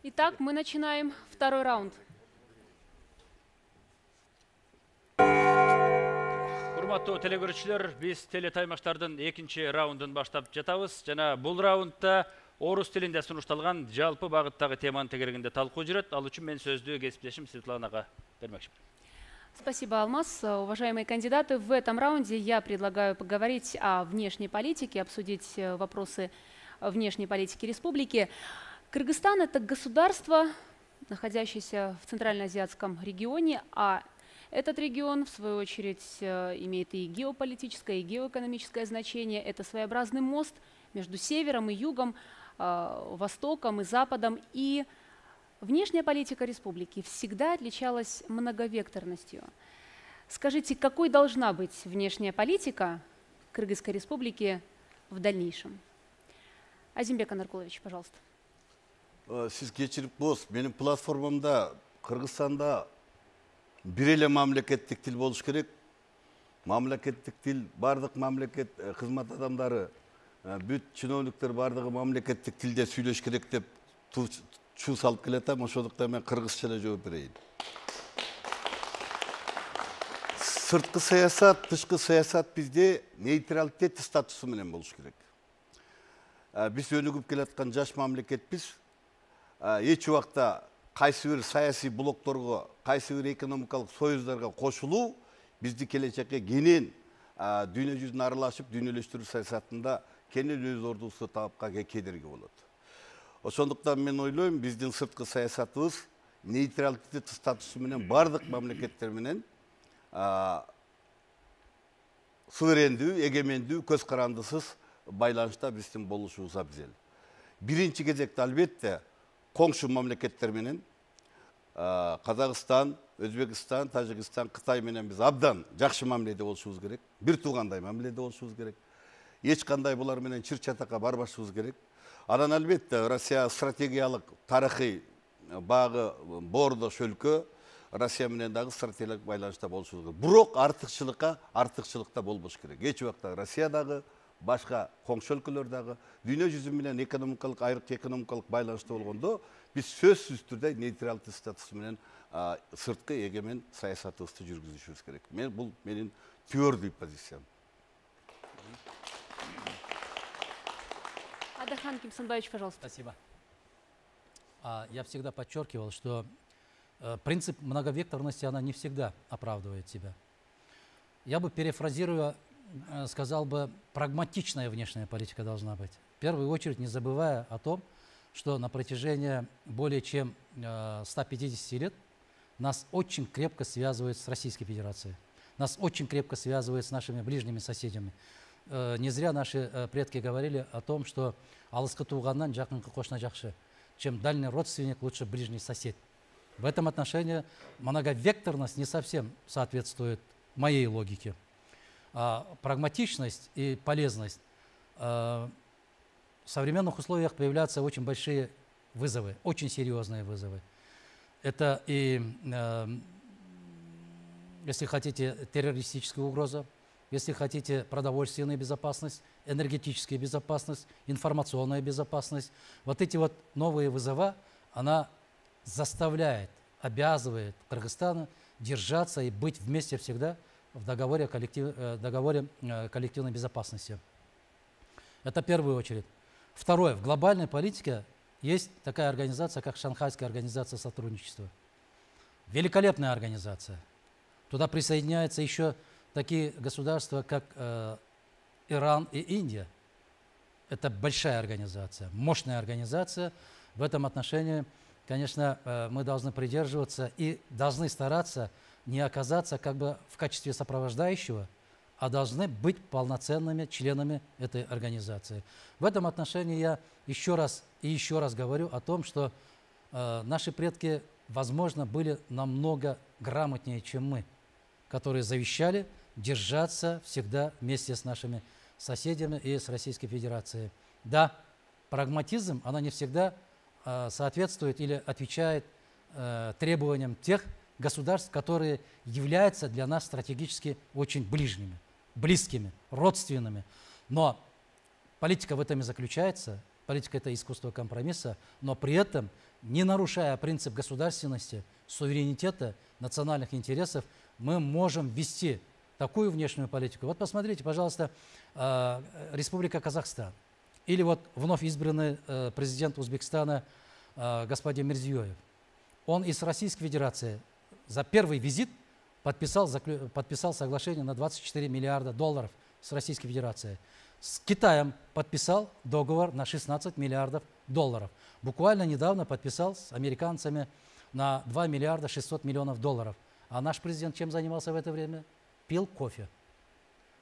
Итак, мы начинаем второй раунд. Урматтуу телекөрүүчүлөр, биз теле таймаштардын экинчи раундун баштап жатабыз. Жана бул раундда орус тилинде сунушталган жалпы багыттагы теманын тегерегинде талкуу жүрөт. Ал үчүн мен сөздү кесиптешим Светланага бермекчимин. Спасибо, Алмаз. Уважаемые кандидаты, в этом раунде я предлагаю поговорить о внешней политике, обсудить вопросы внешней политики республики. Кыргызстан – это государство, находящееся в Центральноазиатском регионе, а этот регион, в свою очередь, имеет и геополитическое, и геоэкономическое значение. Это своеобразный мост между севером и югом, востоком и западом. И внешняя политика республики всегда отличалась многовекторностью. Скажите, какой должна быть внешняя политика Кыргызской республики в дальнейшем? Азимбек Анаркулович, пожалуйста. Сиз кечирип коесуз, менин платформамда Кыргызстанда бир эле мамлекеттик тил болуш керек. Мамлекеттик тил бардык мамлекет кызмат адамдары, бүт чиновниктер бардыгы мамлекеттик тилде сүйлөш керек деп чуу салып келатам. Ошондуктан мен кыргызча эле жооп берейин. Сырткы саясат, тышкы саясат бизде нейтралитет статусу менен болуш керек. Биз өнүгүп келаткан жаш мамлекетпиз. Эч убакта кайсы бир саясий блокторго, кайсы бир экономикалык союздарга кошулуу бизди келечекке кенен дүйнө жүзүн аралашып дүйнөлөштүрүү саясатында кенен өз ордубузду таапка кедерги болот. Ошондуктан мен ойлойм, биздин сырткы саясатыбыз нейтралитет статусу менен бардык мамлекеттер менен суверендүү, эгемендүү, көз карандысыз байланышта биздин болушубуз абзел. Биринчи кезекте албетте коңшу мамлекеттер менен Казакстан, Өзбекстан, Тажикстан, Кытай менен биз абдан жакшы мамиледе болушубуз керек. Бир туугандай мамиледе болушубуз керек. Эч кандай булар менен чыр чатакка барбашыбыз керек. Анан албетте Россия стратегиялык тарыхый багы боордош өлкө, Россия менен дагы стратегиялык байланышта болушубуз керек. Бирок артыкчылыкта болбош керек. Эч убакта Россиядагы, башка коңшу өлкөлөр дагы дүйнө жүзү менен экономикалык, айрык экономикалык байланышта болгондо биз сөзсүз түрдө нейтралдык статусу менен сырткы эгемен саясатыбызды жүргүзүшүбүз керек. Бул менин твердый позициям. Адахан Кимсанбаевич, пожалуйста. Спасибо. Я всегда подчеркивал, что принцип многовекторности, она не всегда оправдывает себя. Я бы, перефразируя, сказал бы, прагматичная внешняя политика должна быть. В первую очередь, не забывая о том, что на протяжении более чем 150 лет нас очень крепко связывает с Российской Федерацией. Нас очень крепко связывает с нашими ближними соседями. Не зря наши предки говорили о том, что алыскы туғаннан жақынқы қошна жақшы. Чем дальний родственник, лучше ближний сосед. В этом отношении многовекторность не совсем соответствует моей логике. Прагматичность и полезность. В современных условиях появляются очень большие вызовы, очень серьезные вызовы. Это и, если хотите, террористическая угроза, если хотите, продовольственная безопасность, энергетическая безопасность, информационная безопасность. Вот эти вот новые вызова, она заставляет, обязывает Кыргызстана держаться и быть вместе всегда в договоре коллективной безопасности. Это в первую очередь. Второе. В глобальной политике есть такая организация, как Шанхайская организация сотрудничества. Великолепная организация. Туда присоединяются еще такие государства, как Иран и Индия. Это большая организация, мощная организация. В этом отношении, конечно, мы должны придерживаться и должны стараться не оказаться как бы в качестве сопровождающего, а должны быть полноценными членами этой организации. В этом отношении я еще раз говорю о том, что наши предки, возможно, были намного грамотнее, чем мы, которые завещали держаться всегда вместе с нашими соседями и с Российской Федерацией. Да, прагматизм, она не всегда соответствует или отвечает требованиям тех государств, которые являются для нас стратегически очень близкими, родственными. Но политика в этом и заключается. Политика – это искусство компромисса, но при этом, не нарушая принцип государственности, суверенитета, национальных интересов, мы можем вести такую внешнюю политику. Вот посмотрите, пожалуйста, Республика Казахстан. Или вот вновь избранный президент Узбекистана господин Мирзиёев. Он из Российской Федерации за первый визит подписал соглашение на 24 миллиарда долларов с Российской Федерацией. С Китаем подписал договор на 16 миллиардов долларов. Буквально недавно подписал с американцами на 2 миллиарда 600 миллионов долларов. А наш президент чем занимался в это время? Пил кофе.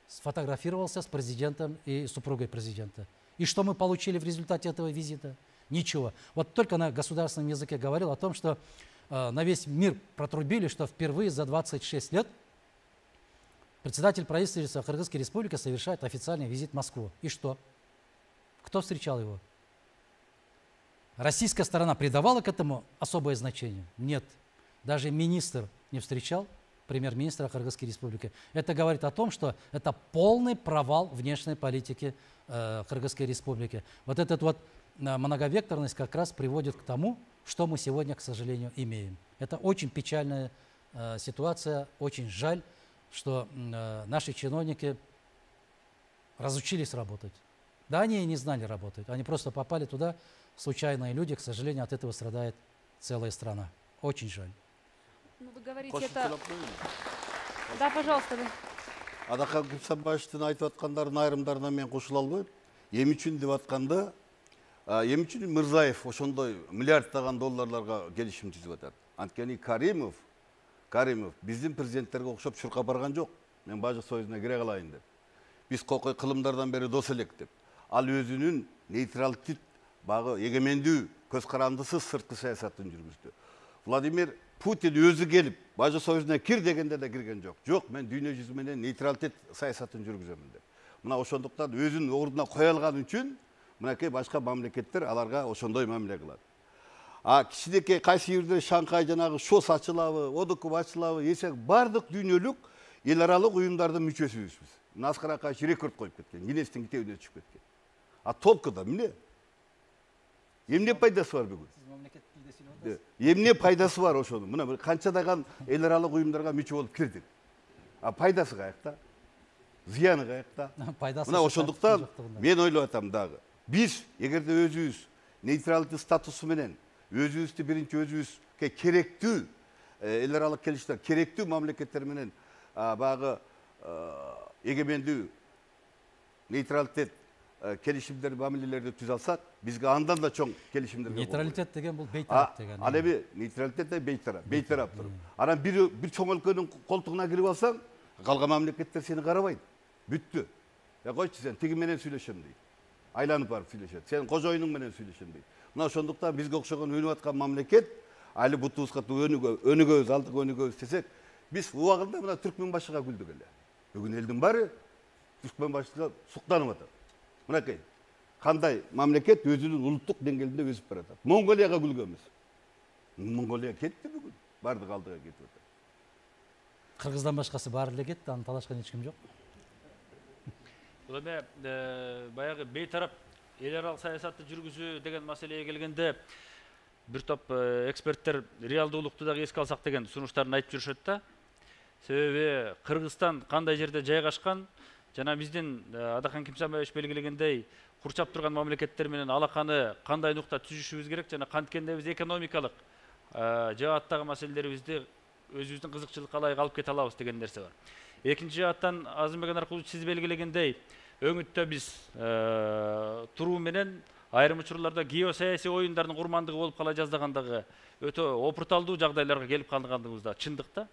Сфотографировался с президентом и супругой президента. И что мы получили в результате этого визита? Ничего. Вот только на государственном языке говорил о том, что на весь мир протрубили, что впервые за 26 лет председатель правительства Кыргызской Республики совершает официальный визит в Москву. И что? Кто встречал его? Российская сторона придавала к этому особое значение? Нет. Даже министр не встречал премьер-министра Кыргызской Республики. Это говорит о том, что это полный провал внешней политики Кыргызской Республики. Вот эта вот многовекторность как раз приводит к тому, что мы сегодня, к сожалению, имеем. Это очень печальная ситуация, очень жаль, что наши чиновники разучились работать. Да, они и не знали работать, они просто попали туда, случайные люди, к сожалению, от этого страдает целая страна. Очень жаль. Ну, вы говорите, это... Да, пожалуйста. Адакан Кипсанбаевичтин айтып аткандардын айрымдарына мен кошула албайм. Эми үчүн деп атканда, эми үчүн Мырзаев ошондой миллиарддаган долларларга келишим түзүп атат. Анткени Каримов биздин президенттерге окшоп чуркап барган жок. Мен Бажык Союзуна кире калайын деп. Биз кокой кылымдардан бери дос элек деп. Ал өзүнүн нейтралдык, багы эгемендүү, көз карандысыз сырткы саясатын жүргүздү. Владимир Путин өзү келип, Бажык Союзуна кир дегенде да кирген жок. Жок, мен дүйнө жүзү менен нейтралитет саясатын жүргүзөмүн деп. Мына ошондуктан өзүнүн ордуна кое алган үчүн мынакей башка мамлекеттер аларга ошондой мамиле кылат. Кичинекей кайсы жерде Шанхай жанагы ШОС ачылабы, ОДКБ ачылабы десек, бардык дүйнөлүк эл аралык уюмдардын мүчөсүбүз биз. Мына Аскар Акаевич рекорд коюп кеткен, Гиннестин китебине түшүп кеткен. Толкуда эмне? Эмне пайдасы бар бүгүн? Эмне пайдасы бар ошонун? Мына канчадаган эл аралык уюмдарга мүчө болуп кирдик. Пайдасы каякта? Зыяны каякта? Мына ошондуктан мен ойлоп атам дагы. Биз эгерде өзүбүз нейтралдык статусу менен өзүбүздү биринчи өзүбүзгө керектүү эл аралык келиштер керектүү мамлекеттер менен баягы эгемендүү нейтралитет келишимдер мамилелерди түзө алсак, бизге андан да чоң келишимдерге нейтралитет деген бул бейтарап деген. Ал эми нейтралитет да бейтарап туруп. Анан бир чоң өлкөнүн колтугуна кирип алсаң, калган мамлекеттер сени карабайт. Бүттү. Койчу, сен тиги менен сүйлөшөм дейт. Айланып барып сүйлөшөт. Сен кожоюнуң менен сүйлөшөм дейт. Мына ошондуктан бизге окшогон өнүп аткан мамлекет, али бутубузга өнүгөбүз, алдыга өнүгөбүз десек, биз убагында мына Түркмөнбашыга күлдүк эле. Бүгүн элдин баары Түркмөнбашыга суктанып атат. Мынакей, кандай мамлекет өзүнүн улуттук деңгээлинде өсүп баратат. Монголияга күлгөнбүз. Монголия кетти бүгүн, бардык алдыга кетип атат. Кыргыздан башкасы баары эле кетти, аны талашкан эч ким жок. Бул эми баягы бейтарап эл аралык саясатты жүргүзүү деген маселеге келгенде бир топ эксперттер реалдуулукту дагы эске алсак деген сунуштарын айтып жүрүшөт да. Себеби Кыргызстан кандай жерде жайгашкан, жана биздин Адахан Кимсанбаевич белгилегендей курчап турган мамлекеттер менен алаканы кандай нукта түзүшүбүз керек, жана канткенде биз экономикалык жааттагы маселелерибизди өзүбүздүн кызыкчылыкка ылайык алып кете алабыз деген нерсе бар. Экинчи жааттан Азымбек Анаркулович сиз белгилегендей өңүттө биз туруу менен айрым учурларда геосаясий оюндардын курмандыгы болуп кала жаздагандагы өтө опурталдуу жагдайларга келип калгандыгыбыз да чындык да.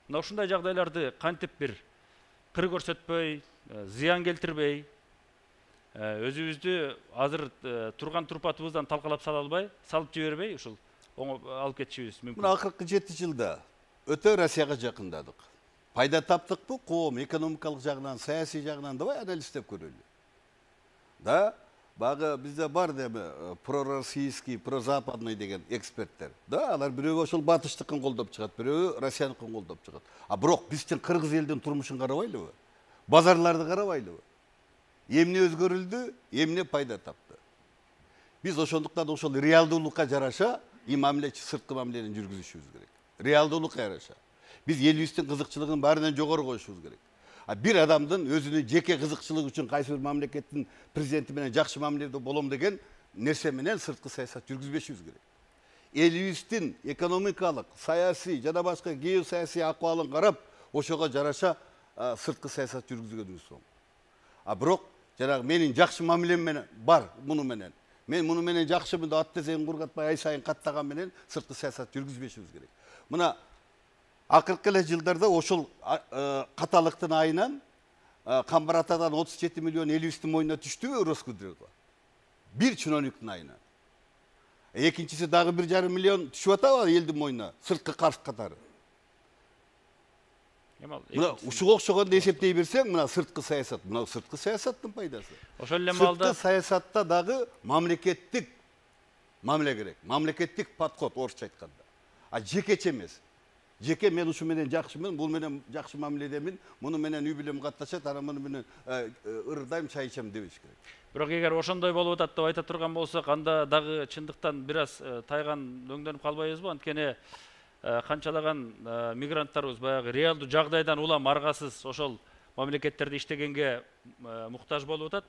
Мына ушундай жагдайларды кантип бир кыр көрсөтпөй, зыян келтирбей, өзүбүздү азыр турган турпатыбыздан талкалап салып жибербей ушул алып кетишибиз мүмкүн. Мына акыркы 7 жылда өтө Россияга жакындадык. Пайда таптыкпы? Коом экономикалык жагынан, саясий жагынан давай анализдеп көрөлү. Да, багы бизде бар деби пророссийский, прозападный деген эксперттер. Да, алар бирөө ошол батыштыкын колдоп чыгат, бирөө Россияныкын колдоп чыгат. А бирок биздин кыргыз элдин турмушун карабайлыбы? Базарларды карабайлыбы? Эмне өзгөрүлдү, эмне пайда тапты? Биз ошондуктан ошол реалдуулукка жараша сырткы мамилени жүргүзүшүбүз керек. Реалдуулукка жараша. Биз элибиздин кызыкчылыгын баарынан жогору коюшубуз керек. Бир адамдын өзүнүн жеке кызыкчылыгы үчүн кайсы бир мамлекеттин президенти менен жакшы мамиледе болом деген нерсе менен сырткы саясат жүргүзбөшүбүз керек. Элибиздин экономикалык, саясий жана башка геосаясий акыбалын карап, ошого жараша сырткы саясат жүргүзгөнүбүз соң. Бирок жанагы менин жакшы мамилем менен бар муну менен. Мен муну менен жакшымын деп ат тезен кургатпай ай сайын каттаган менен сырткы саясат жүргүзбөшүбүз керек. Мына акыркы эле жылдарда ошол каталыктын айынан Камбар атадан 37 миллион элибиздин мойнуна түштүбү Роскудрёго? Бир чиновниктин айынан. Экинчиси дагы 1,5 миллион түшүп атабы элдин мойнуна сырткы карыз катары. Мына ушуга окшогонду эсептей берсең, мына сырткы саясат, мына сырткы саясаттын пайдасы. Ошол эле маалда сырткы саясатта дагы мамлекеттик мамиле керек. Мамлекеттик подход орусча айтканда. Жекече эмес. Жеке мен ушу менен жакшымын, бул менен жакшы мамиледемин, муну менен үй бүлөм катташат, анан муну менен ырдайм, чай ичем дебеш керек. Бирок эгер ошондой болуп атат деп айта турган болсок, анда дагы чындыктан бир аз тайган өңдөнүп калбайбызбы? Анткени канчалаган мигранттарыбыз баягы реалдуу жагдайдан улам аргасыз ошол мамлекеттерде иштегенге муктаж болуп атат.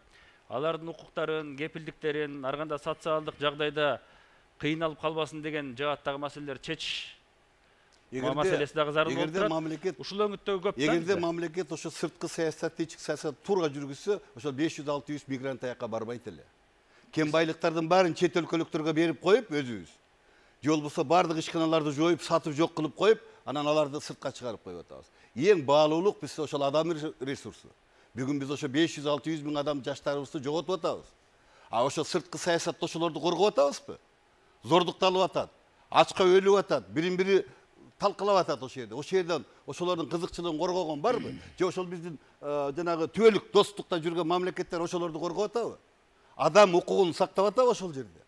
Алардын укуктарын, кепилдиктерин, ар кандай социалдык жагдайда кыйналып калбасын деген жааттагы маселелер чечиш маселеси дагы зарыл болуп турат. Ушул өңүттөгү көп да. Эгерде мамлекет ошо сырткы саясат, ички саясат туура жүргүзсө, ошол 500-600 мигрант аяка барбайт эле. Кен байлыктардын баарын чет өлкөлүктөргө берип коюп өзүбүз. Же болбосо бардык ишканаларды жоюп, сатып жок кылып коюп, анан аларды сыртка чыгарып коюп атабыз. Эң баалуулук биз ошол адам ресурсу. Бүгүн биз ошо 500-600 миң адам жаштарыбызды жоготуп атабыз. Ошо сырткы саясатта ошолорду коргоп атабызбы? Зордукталып атат, ачка өлүп атат, бирин-бири талкалап атат ошол жерде. Ошол жерден ошолордун кызыкчылыгын коргогон барбы? Же ошол биздин жанагы түбөлүк достукта жүргөн мамлекеттер ошолорду коргоп атабы? Адам укугун сактап атабы ошол жерде?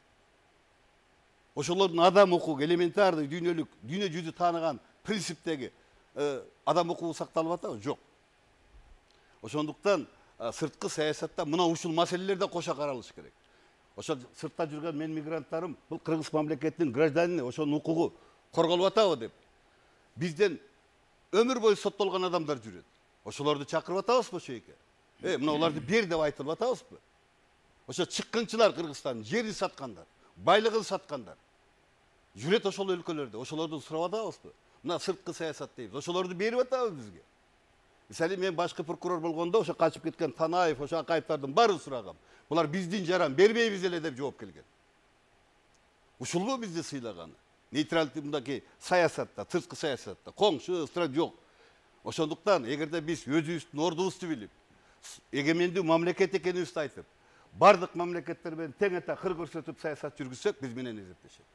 Ошолордун адам укугу элементардык дүйнөлүк, дүйнө жүзү тааныган принциптеги адам укугу сакталып атабы? Жок. Ошондуктан сырткы саясатта мына ушул маселелерде кошо каралыш керек. Ошол сыртта жүргөн мен мигранттарым бул кыргыз мамлекетинин гражданины, ошонун укугу корголуп атабы деп. Бизден өмүр бою соттолгон адамдар жүрөт. Ошолорду чакырып атабызбы ошо жерге? Мына оларды бер деп айтылып атабызбы? Ошо чыккынчылар Кыргызстан жерин саткандар, байлыгын саткандар. Жүрөт ошол өлкөлөрдө, ошолордун сурап атабызбы? мына сырткы саясат дейбиз. Ошолорду берип атабыз бизге. Мисалы мен башкы прокурор болгондо ошо качып кеткен Танаев, ошо Акаевдардын баарын сурагам. Булар биздин жаран бербейбиз эле деп жооп келген. Ушулбу бизди сыйлаганы? Нейтралдык мындаки саясатта, сырткы саясатта коңшу страт жок. Ошондуктан эгерде биз өзүбүздүн ордубузду билип, эгемендүү мамлекет экенибизди айтып, бардык мамлекеттер менен тең эте кыр көрсөтүп саясат жүргүзсөк, биз менен эзептешет.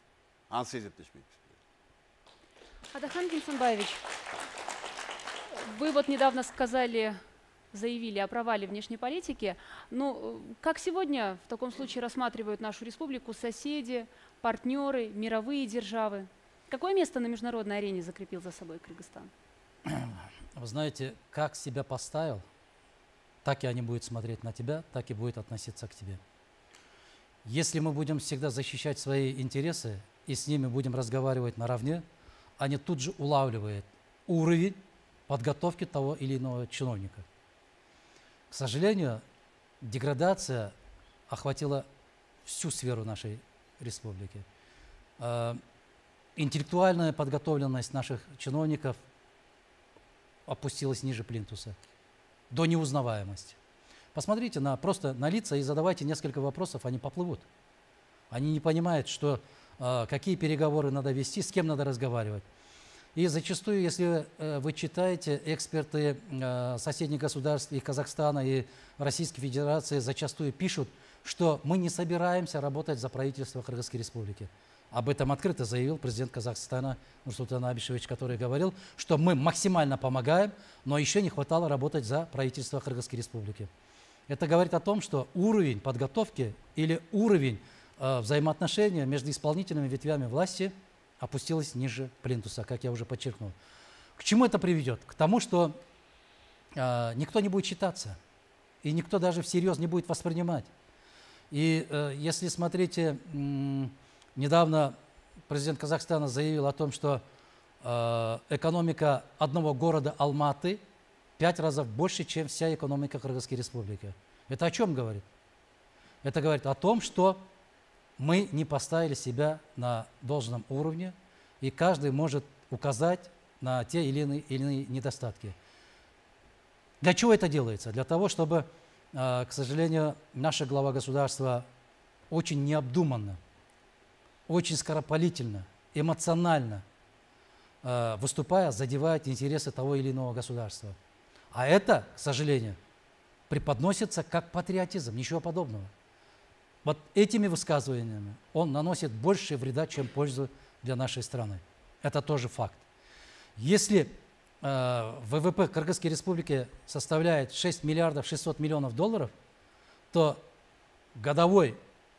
Ансыз эзептешпейбиз. Адахан Генсенбаевич, вы вот недавно заявили о провале внешней политики. Ну, как сегодня в таком случае рассматривают нашу республику соседи, партнеры, мировые державы? Какое место на международной арене закрепил за собой Кыргызстан? Вы знаете, как себя поставил, так и они будут смотреть на тебя, так и будут относиться к тебе. Если мы будем всегда защищать свои интересы и с ними будем разговаривать наравне, они тут же улавливают уровень подготовки того или иного чиновника. К сожалению, деградация охватила всю сферу нашей республики. Интеллектуальная подготовленность наших чиновников опустилась ниже плинтуса, до неузнаваемости. Посмотрите просто на лица и задавайте несколько вопросов, они поплывут. Они не понимают, какие переговоры надо вести, с кем надо разговаривать. И зачастую, если вы читаете, эксперты соседних государств и Казахстана, и Российской Федерации зачастую пишут, что мы не собираемся работать за правительство Кыргызской Республики. Об этом открыто заявил президент Казахстана Нурсултан Абишевич, который говорил, что мы максимально помогаем, но еще не хватало работать за правительство Кыргызской Республики. Это говорит о том, что уровень подготовки или уровень взаимоотношения между исполнительными ветвями власти опустилась ниже плинтуса, как я уже подчеркнул. К чему это приведет? К тому, что никто не будет считаться, и никто даже всерьез не будет воспринимать. И если смотрите, недавно президент Казахстана заявил о том, что экономика одного города Алматы 5 раз больше, чем вся экономика Кыргызской Республики. Это о чем говорит? Это говорит о том, что мы не поставили себя на должном уровне, и каждый может указать на те или иные недостатки. Для чего это делается? Для того, чтобы, к сожалению, наша глава государства очень необдуманно, очень скоропалительно, эмоционально выступая, задевает интересы того или иного государства. А это, к сожалению, преподносится как патриотизм, ничего подобного. Вот этими высказываниями он наносит больше вреда, чем пользу для нашей страны. Это тоже факт. Если ВВП Кыргызской Республики составляет 6 миллиардов 600 миллионов долларов, то годовая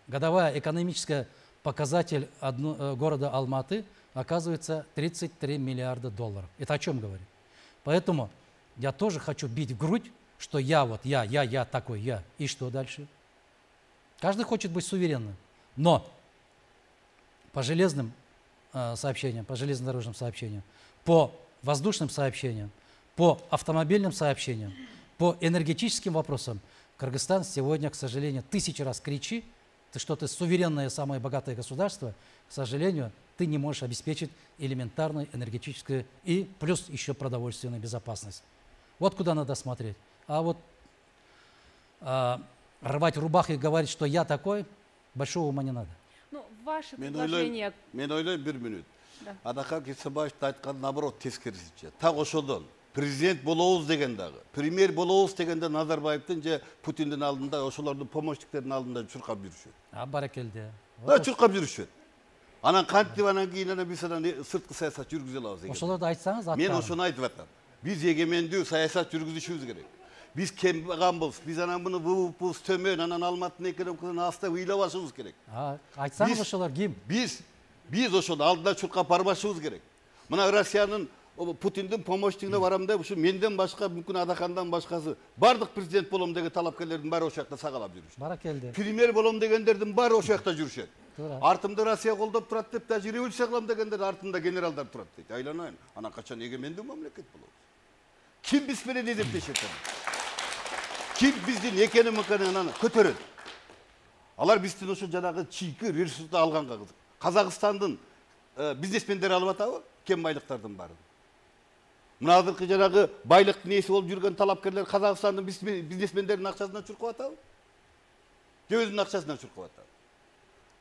экономическая показатель города Алматы оказывается 33 миллиарда долларов. Это о чем говорит? Поэтому я тоже хочу бить в грудь, что я такой, я. И что дальше? Каждый хочет быть суверенным. Но по железным сообщениям, по железнодорожным сообщениям, по воздушным сообщениям, по автомобильным сообщениям, по энергетическим вопросам Кыргызстан сегодня, к сожалению, 1000 раз кричи, что ты суверенное, самое богатое государство, к сожалению, ты не можешь обеспечить элементарную энергетическую и плюс еще продовольственную безопасность. Вот куда надо смотреть. А вот рвать рубаху и говорить, что я такой, большого ума не надо. Ну, ваши предложения... Мен ойлойм бир мүнөт. Да. Адахан Генсенбаевдин айтканы наоборот тескерисинче. Так ошодон президент болобуз деген дагы, премьер болобуз дегенде Назарбаевдин же Путиндин алдында, ошолордун помощниктердин алдында чуркап жүрүшөт. Баракелде. Чуркап жүрүшөт. Анан кантип анан кийин биз сырткы саясат жүргүзө алабыз деген. Ошолорду айтсаңыз, Мен ошону айтып атам. Биз эгемендүү саясат жүргүзүшүбүз керек. Биз кембаганбыз, биз анан муну ВВПбыз төмөн, анан Алматынын экономикасын аста ыйлабашыбыз керек. Айтсаңыз ошолор ким? Биз ошону алдына чуркап барбашыбыз керек. Мына Россиянын Путиндин помощнигине барам деп, ушу менден башка, мүмкүн Адахандан башкасы бардык президент болом деген талапкерлердин баары ошол жакта сагалап жүрүшөт. Баракелде. Премьер болом дегендердин баары ошол жакта жүрүшөт. Артымда Россия колдоп турат деп, даже революция кылам дегендер артында генералдар турат дейт. Айланайын, анан качан эгемендүү мамлекет болобуз. Ким биз менен эзептешет? Ким биздин экономиканы анан көтөрөт? Алар биздин ошо жанагы чийки ресурсту алганга кызык. Казакстандын бизнесмендери алып атабы? кен байлыктардын баарын. Мына азыркы жанагы байлыктын ээси болуп жүргөн талапкерлер Казакстандын бизнесмендеринин акчасынан чуркап атабы? Же өзүнүн акчасынан чуркап атабы?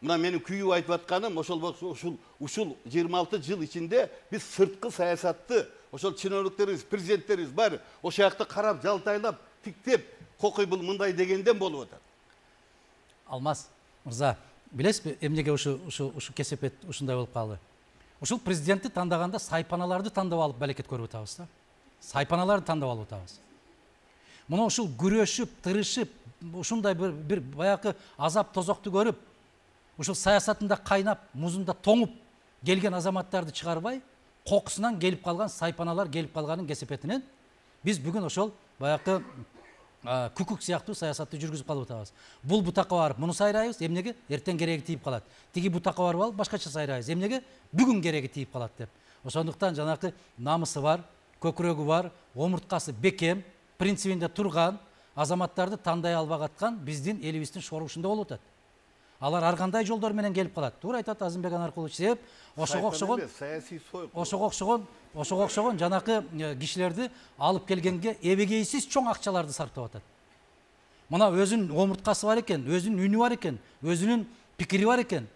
Мына менин күйүп айтып атканым ушул 26 жыл ичинде биз сырткы саясатты ошол чиновниктерибиз, президенттерибиз бар ошол жакта карап, жалтайлап, тиктеп, кокуй бул мындай дегенден болуп атат. Алмаз мырза, билесизби, эмнеге ушу кесепет ушундай болуп калды? Ушул президентти тандаганда сайпаналарды тандап алып балекет көрүп атабыз да. Сайпаналарды тандап алып атабыз. Муну ушул күрөшүп, тырышып, ушундай бир баягы азап тозокту көрүп, ушул саясатында кайнап, музунда тоңуп келген азаматтарды чыгарбай, кокусунан келип калган сайпаналар келип калганын кесепетинен биз бүгүн ошол баягы күкүк сыяктуу саясатты жүргүзүп калып атабыз. Бул бутакка барып муну сайрайбыз, эмнеге? Эртең кереги тийип калат. Тиги бутакка барып алып башкача сайрайбыз, эмнеге? Бүгүн кереги тийип калат деп. Ошондуктан жанакы намысы бар, көкүрөгү бар, омурткасы бекем, принцибинде турган азаматтарды тандай албай аткан биздин элибиздин шорушунда болуп атат. Алар ар кандай жолдор менен келип калат. Туура айтат Азымбек Анаркулович. Себеп ошого окшогон жанакы кишилерди алып келгенге эбегейсиз чоң акчаларды сарптап атат. Мына өзүнүн омурткасы бар экен, өзүнүн үнү бар экен, өзүнүн пикири бар экен.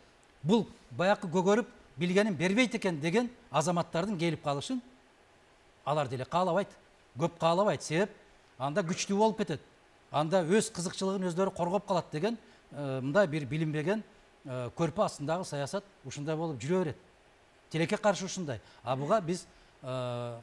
Бул баягы көгөрүп билгенин бербейт экен деген азаматтардын келип калышын алар деле каалабайт, көп каалабайт. Себеп анда күчтүү болуп кетет. Анда өз кызыкчылыгын өздөрү коргоп калат деген мындай бир билинбеген көрпө астындагы саясат ушундай болуп жүрө берет. Тилекке каршы ушундай. А буга биз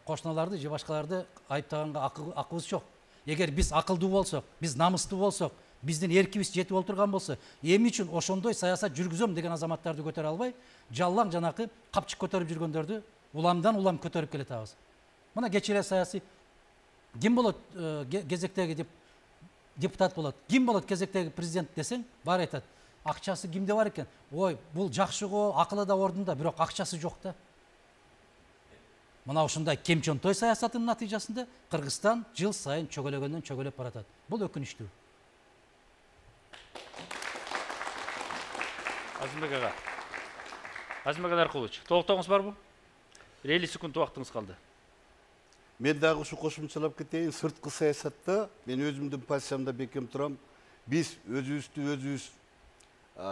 кошуналарды же башкаларды айыптаганга акыбыз жок. Эгер биз акылдуу болсок, биз намыстуу болсок, биздин эркибиз жетип отурган болсо, эмне үчүн ошондой саясат жүргүзөм деген азаматтарды көтөрө албай, жаллаң жанакы капчык көтөрүп жүргөндөрдү уламдан улам көтөрүп келатабыз. Мына кечээ саясий ким болот кезектеги депутат болот, ким болот кезектеги президент десең, бар айтат. Акчасы кимде бар экен? Ой, бул жакшы го, акылы да ордунда, бирок акчасы жок да. Мына ушундай кемчонтой саясаттын натыйжасында Кыргызстан жыл сайын чөгөлөгөндөн чөгөлөп баратат. Бул өкүнүчтүү. Азымбек ага. Азымбек Анаркулович, толуктооңуз барбы? 50 секунд убактыңыз калды. Мен дагы ушу кошумчалап кетейин. Сырткы саясатта мен өзүмдүн позициямда бекем турам. Биз өзүбүз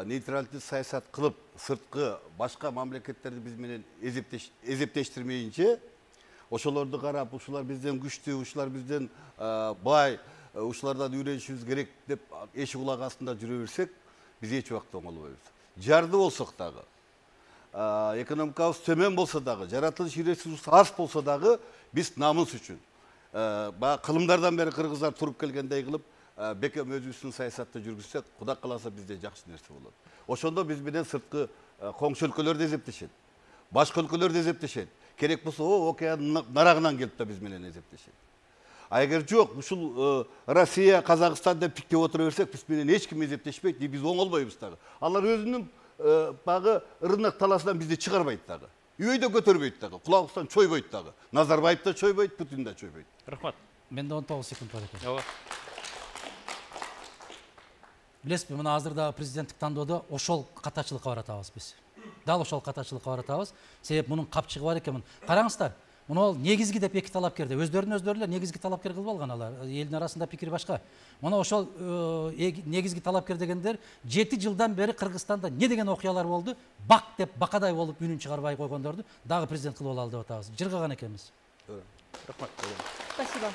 нейтралдуу саясат кылып, сырткы башка мамлекеттерди биз менен эзептештирмейинче, ошолорду карап, ушулар бизден күчтүү, ушулар бизден бай, ушулардан үйрөнүшүбүз керек деп эшик улак астында жүрө берсек, биз эч убакта оңолбойбуз. Жарды болсок дагы, экономикабыз төмөн болсо дагы, жаратылыш ресурс аз болсо дагы, биз намыс үчүн кылымдардан бери кыргыздар туруп келгендей кылып бекем өзүбүздүн саясатты жүргүзсөк, Кудай кааласа бизде жакшы нерсе болот. Ошондо биз менен сырткы коңшу өлкөлөр да эзептешет. Башка өлкөлөр да эзептешет. Керек болсо океан нарагынан келип да биз менен эзептешет. А эгер жок, ушул Россия, Казакстан деп тиктеп отура берсек, биз менен эч ким эзептешпейт, биз оңолбойбуз дагы. Алар өзүнүн багы рынок таласынан бизди чыгарбайт дагы. Үйдө көтөрбөйт дагы, кулагыбыздан чойбойт дагы. Назарбаев да чойбойт, Путин да чойбойт. Рахмат. Менде 19 секунд бар экен. Ооба. Билесизби, мына азырдагы президенттик тандоодо ошол катачылыкка баратабыз биз. Дал ошол катачылыкка баратабыз. Себеп мунун капчыгы бар экен. Караңыздар, муну негизги деп эки талапкерди өздөрүн негизги талапкер кылып алган алар. Элдин арасында пикири башка. Мына ошол негизги талапкер дегендер 7 жылдан бери Кыргызстанда не деген окуялар болду? Бак деп бакадай болуп үнүн чыгарбай койгондорду дагы президент кылып алалы деп атабыз. Жыргаган экенбиз. Рахмат. Спасибо.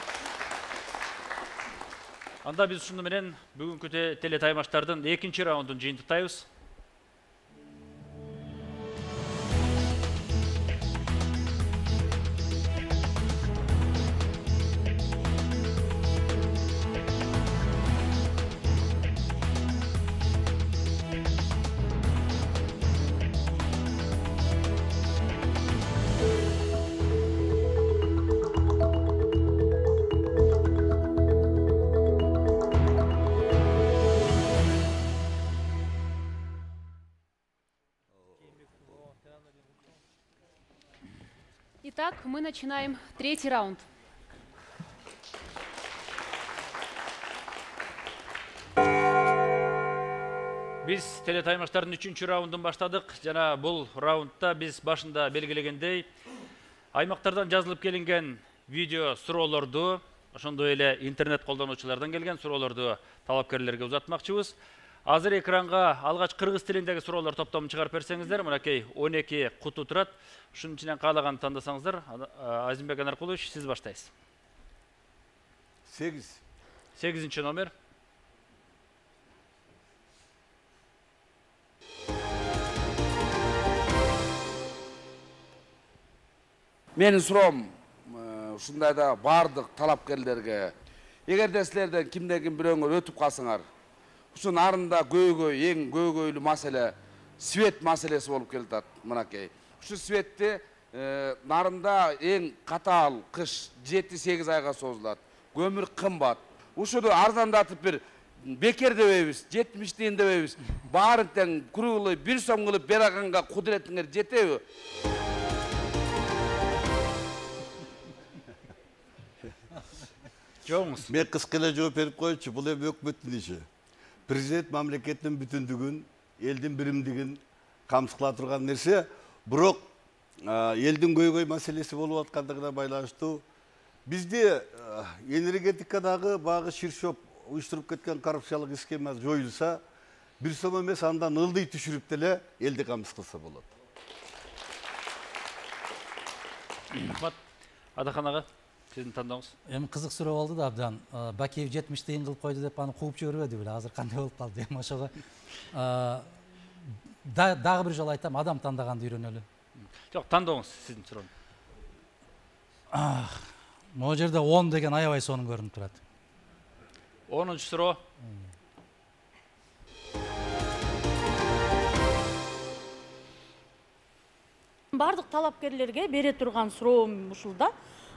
Анда биз ушуну менен бүгүнкү телетаймаштардын 2-чи раундун жыйынтыктайбыз. Итак, мы начинаем 3-й раунд. Биз телетаймаштардын 3-чү раундун баштадык. Жана бул раундда биз башында белгилегендей аймактардан жазылып келинген видео суроолорду, ошондой эле интернет колдонуучулардан келген суроолорду талапкерлерге узатмакчыбыз. Азыр экранга алгач кыргыз тилиндеги суроолор топтомун чыгарып берсеңиздер, мынакей 12 куту турат. Ушунун ичинен каалаганды тандасаңыздар. Азимбек Анаркулович, сиз баштайсыз. 8 номер. Менин суроом ушундай да бардык талапкерлерге, эгерде силерден кимден-ким бирөөңөр өтүп калсаңар, ушу нарында эң көйгөйлүү маселе свет маселеси болуп келатат. Мынакей. Ушу светти нарында эң катаал кыш 7-8 айга созулат. Көмүр кымбат. Ушуну арзандатып бир бекер дебейбиз, 70 тиын дебейбиз. Баарын тең круглый 1 сом кылып бераганга кудуретиңер жетеби? Жоңуз. Мен кыска эле жооп берип коечу, бул эми өкмөттүн иши. Президент мамлекеттин бүтүндүгүн, элдин биримдигин камсыз кыла турган нерсе, бирок элдин көйгөй маселеси болуп аткандыгына байланыштуу бизде энергетикадагы багы ширшоп уюштуруп кеткен коррупциялык схема жоюлса, 1 сом эмес андан ылдый түшүрүп деле элди камсыз кылса болот. Рахмат. Адахан ага, сиздин тандооңуз. Эми кызык суроо болду да абдан. Бакиев 70 тыйын кылып койду деп аны кууп жибербеди беле. Азыр кандай болуп калды? Эми ошого дагы бир жолу айтам, адам тандаганды үйрөнөлү. Жок, тандооңуз сиздин сурооңуз. Могу жерде 10 деген аябай сонун көрүнүп турат. 10-чу суроо. Бардык талапкерлерге бере турган суроом ушул да.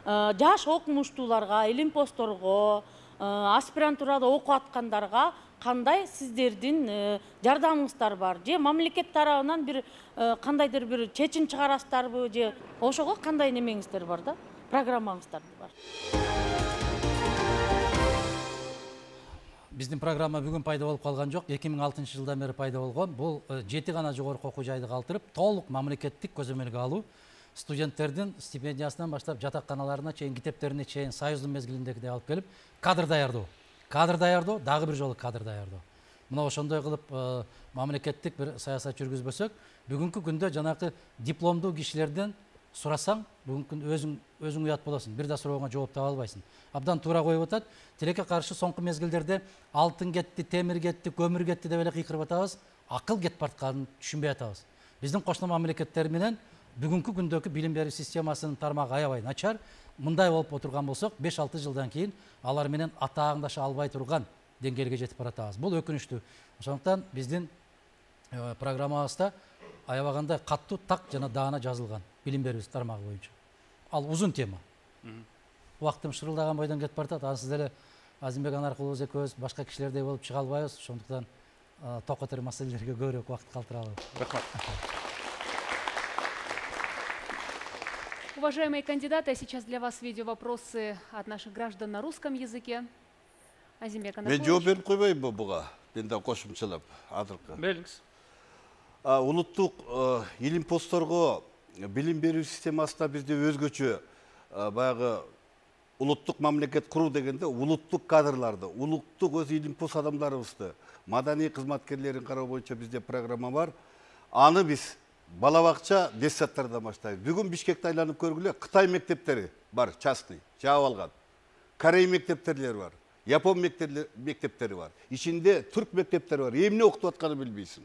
Жаш окумуштууларга, илим-посторго, аспирантурада окуп аткандарга кандай сиздердин жардамыңыздар бар? Же мамлекет тарабынан бир кандайдыр бир чечим чыгарасыздарбы, же ошого кандай немеңиздер бар да? Программаңыздар бар. Биздин программа бүгүн пайда болуп калган жок. 2006 жылдан бери пайда болгон. Бул 7 гана жогорку окуу жайды калтырып, толук мамлекеттик көзөмөлгө алуу, студенттердин стипендиясынан баштап жатаканаларына чейин, китептерине чейин союздун мезгилиндегидей алып келип, кадр даярдоо. Кадр даярдоо, дагы бир жолу кадр даярдоо. Мына ошондой кылып мамлекеттик бир саясат жүргүзбөсөк, бүгүнкү күндө жанакы дипломдуу кишилерден сурасаң, бүгүнкү күндө өзүң уят болосуң. Бир да сурооңо жооп таба албайсың. Абдан туура коюп атат. Тилекке каршы соңку мезгилдерде алтын кетти, темир кетти, көмүр кетти деп эле кыйкырып атабыз. Акыл кетип баратканын түшүнбөй атабыз. Биздин кошуна мамлекеттер менен бүгүнкү күндөгү билим берүү системасынын тармагы аябай начар. Мындай болуп отурган болсок, 5-6 жылдан кийин алар менен атааңдаша албай турган деңгээлге жетип баратабыз. Бул өкүнүчтүү. Ошондуктан биздин программабызда аябагандай каттуу так жана даана жазылган билим берүү тармагы боюнча. Ал узун тема. Убактым шырылдаган бойдон кетип баратат. Ансыз деле Азимбек Анаркулович экөөбүз башка кишилердей болуп чыга албайбыз. Ошондуктан токотор маселелерге көбүрөөк убакыт калтыралы. Рахмат. Уважаемые кандидаты, сейчас для вас видеовопросы от наших граждан на русском языке. Азимбек Анаркулович. Мен жооп берип койбоймунбу буга? Мен да кошумчалап азыркы. Бериңиз. Улуттук илим посторго билим берүү системасында бизде өзгөчө баягы улуттук мамлекет куруу дегенде улуттук кадрларды, улуттук өз илим пост адамдарыбызды, маданий кызматкерлерин кароо боюнча бизде программа бар. Аны биз бала бакча детсадтардан баштайбыз. Бүгүн Бишкекти айланып көргүлө, Кытай мектептери бар, частный, жаап алган. Корей мектептери бар, Япон мектептери бар. Ичинде түрк мектептери бар. Эмне окутуп атканын билбейсиң.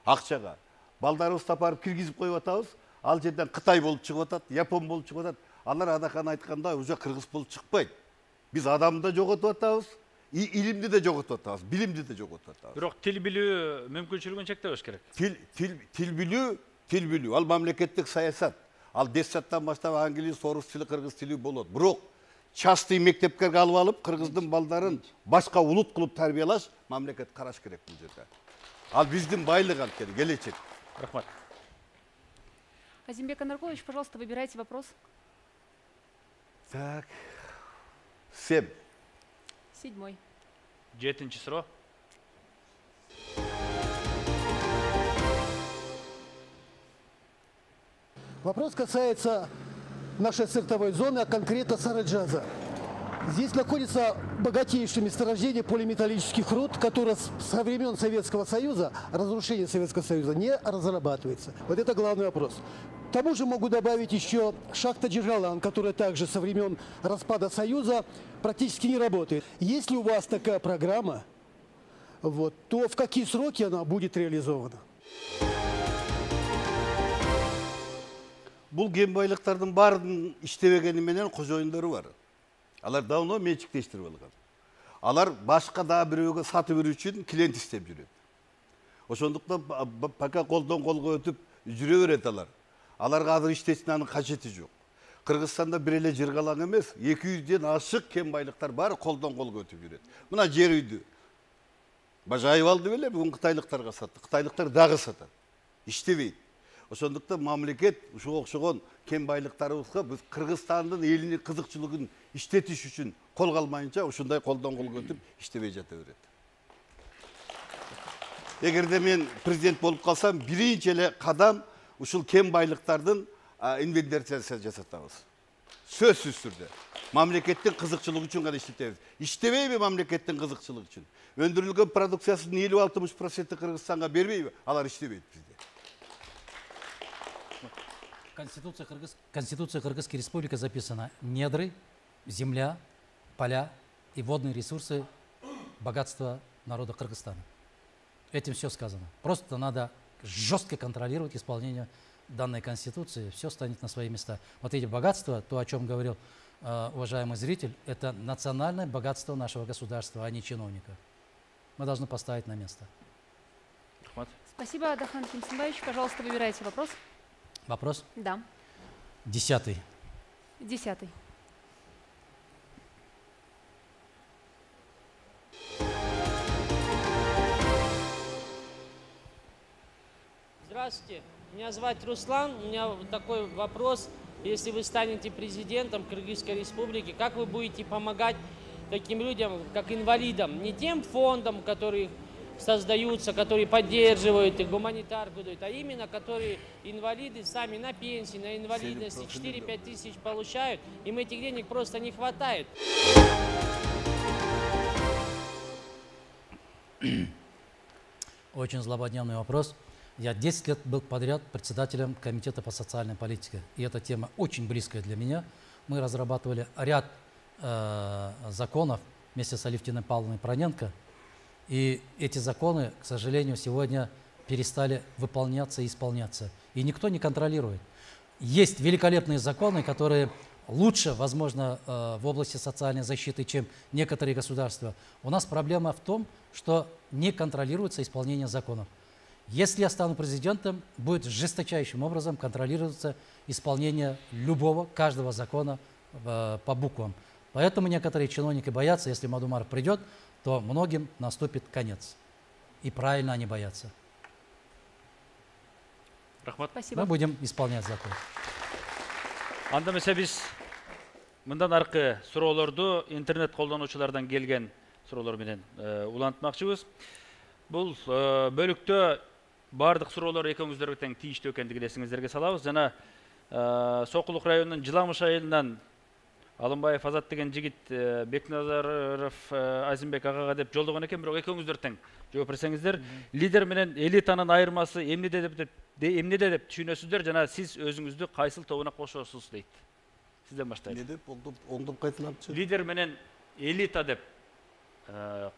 Акчага. Балдарыбызды апарып киргизип коюп атабыз. Ал жерден Кытай болуп чыгып атат, Япон болуп чыгып атат. Алар Адахан айткандай уже кыргыз болуп чыкпайт. Биз адамды да жоготуп атабыз, илимди де жоготуп атабыз, билимди де жоготуп атабыз. Бирок тил билүү мүмкүнчүлүгүн чектебеш керек. Тил билүү, ал мамлекеттик саясат. Ал детсадтан баштап англис, орус тили, кыргыз тили болот. Бирок частный мектепке алып алып, кыргыздын балдарын башка улут кылып тарбиялаш мамлекет караш керек бул жерде. Ал биздин байлык анткени, келечек. Рахмат. Азимбек Анаркулович, пожалуйста, выбирайте вопрос. Так. 7. 7. 7-чи суроо. Вопрос касается нашей сортовой зоны, а конкретно Сараджаза. Здесь находится богатейшее месторождение полиметаллических руд, которое со времен Советского Союза, разрушения Советского Союза, не разрабатывается. Вот это главный вопрос. К тому же могу добавить еще шахта Джигалан, которая также со времен распада Союза практически не работает. Если у вас такая программа, вот, то в какие сроки она будет реализована? Бұл кен байлықтардың барын іштебегені менен қожайындары бар. Алар давно меншіктештіріп алған. Алар башқа да біреуге сатып беру үшін клиент істеп жүреді. Ошондуктан пока колдон колго өтүп жүрө берет алар. Аларга азыр иштечинин кажети жок. Кыргызстанда бир эле Жыргалаң эмес, 200ден ашык кен байлыктар баары колдон колго өтүп жүрөт. Мына жер үйдү бажайып алды беле, бүгүн кытайлыктарга сатты. Кытайлыктар дагы сатат. Иштебейт. Ошондуктан мамлекет ушуга окшогон кен байлыктарыбызга биз Кыргызстандын элинин кызыкчылыгын иштетиш үчүн колго алмайынча ушундай колдон колго өтүп иштебей жата берет. Эгерде мен президент болуп калсам, биринчи эле кадам ушул кен байлыктардын инвентаризациясын жасатабыз. Сөзсүз түрдө. Мамлекеттин кызыкчылыгы үчүн гана иштетебиз. Иштебейби мамлекеттин кызыкчылыгы үчүн? Өндүрүлгөн продукциясынын 50-60% Кыргызстанга бербейби? Алар иштебейт бизде. Конституция Кыргызской Республики записано: недры, земля, поля и водные ресурсы, богатство народа Кыргызстана. Этим все сказано. Просто надо жестко контролировать исполнение данной Конституции, все станет на свои места. Вот эти богатства, то, о чем говорил уважаемый зритель, это национальное богатство нашего государства, а не чиновников. Мы должны поставить на место. Спасибо, Адахан Кимсенбаевич. Пожалуйста, выбирайте вопрос. Вопрос? Да. 10-й. 10-й. Здравствуйте, меня зовут Руслан. У меня такой вопрос. Если вы станете президентом Кыргызской Республики, как вы будете помогать таким людям, как инвалидам? Не тем фондам, которые создаются, которые поддерживают и гуманитарку дают, а именно которые инвалиды сами на пенсии, на инвалидности 4-5 тысяч получают, им этих денег просто не хватает. Очень злободневный вопрос. Я 10 лет был подряд председателем Комитета по социальной политике. И эта тема очень близкая для меня. Мы разрабатывали ряд законов вместе с Алевтиной Павловной Проненко. И эти законы, к сожалению, сегодня перестали выполняться и исполняться. И никто не контролирует. Есть великолепные законы, которые лучше, возможно, в области социальной защиты, чем некоторые государства. У нас проблема в том, что не контролируется исполнение законов. Если я стану президентом, будет жесточайшим образом контролироваться исполнение любого, каждого закона по буквам. Поэтому некоторые чиновники боятся, если Мадумаров придет, то многим наступит конец. И правильно они боятся. Рахмат. Спасибо. Мы будем исполнять закон. Анда эмесе биз мындан аркы суроолорду интернет колдонуучулардан келген суроолор менен улантмакчыбыз. Бул бөлүктө бардык суроолор экөөңүздөргө тең тийиштүү экендигин эсиңиздерге салабыз. Жана Сокулук районунун Жыламыш айылынан Алымбаев Азат деген жигит Бекназаров Азимбек агага деп жолдогон экен, бирок экөөңүздөр тең жооп берсеңиздер. Лидер менен элитанын айырмасы эмнеде деп түшүнөсүздөр жана сиз өзүңүздү кайсыл тобуна кошосуз дейт. Сизден баштайлы. Не деп оңдоп кайтылапчы? Лидер менен элита деп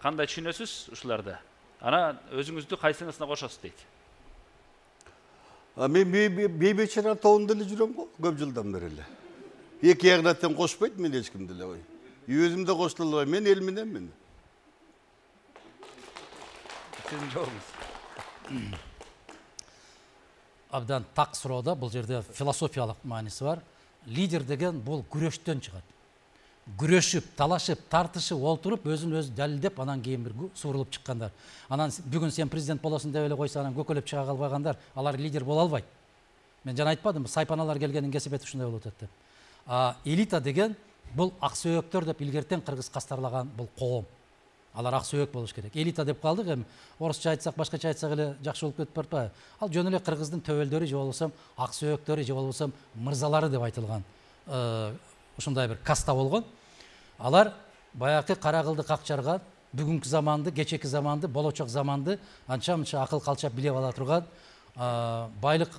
кандай түшүнөсүз ушуларды? Ана өзүңүздү кайсыңысына кошосуз дейт. Мен бейбечара тобунда эле жүрөм го, көп жылдан бери эле. Эки ягына тең кошпойт мен эч кимди эле. Өзүм да кошула албайм, мен эл мененмин. Сиздин жообуңуз. Абдан так суроодо, бул жерде философиялык мааниси бар. Лидер деген бул күрөштөн чыгат. Күрөшүп, талашып, тартышып, олтуруп, өзүн өзү далилдеп, анан кийин бир суурулуп чыккандар. Анан бүгүн сен президент болосуң деп эле койсо, анан көкөлөп чыга калбагандар, алар лидер боло албайт. Мен жана айтпадымбы, сайпаналар келгенин кесип этип ушундай болуп атат деп. Элита деген бул аксөөктөр деп илгертен кыргыз кастарлаган бул коом. Алар аксөөк болуш керек. Элита деп калдык, эми орусча айтсак, башкача айтсак эле жакшы болуп кетип баратпайбы? Ал жөн эле кыргыздын төбөлдөрү же болбосо аксөөктөрү же болбосо мырзалары деп айтылган. ушундай бир каста болгон. Алар баягы кара кылды какчарган, бүгүнкү заманды, кечеки заманды, болочок заманды анча-мынча акыл калчап билип ала турган, байлык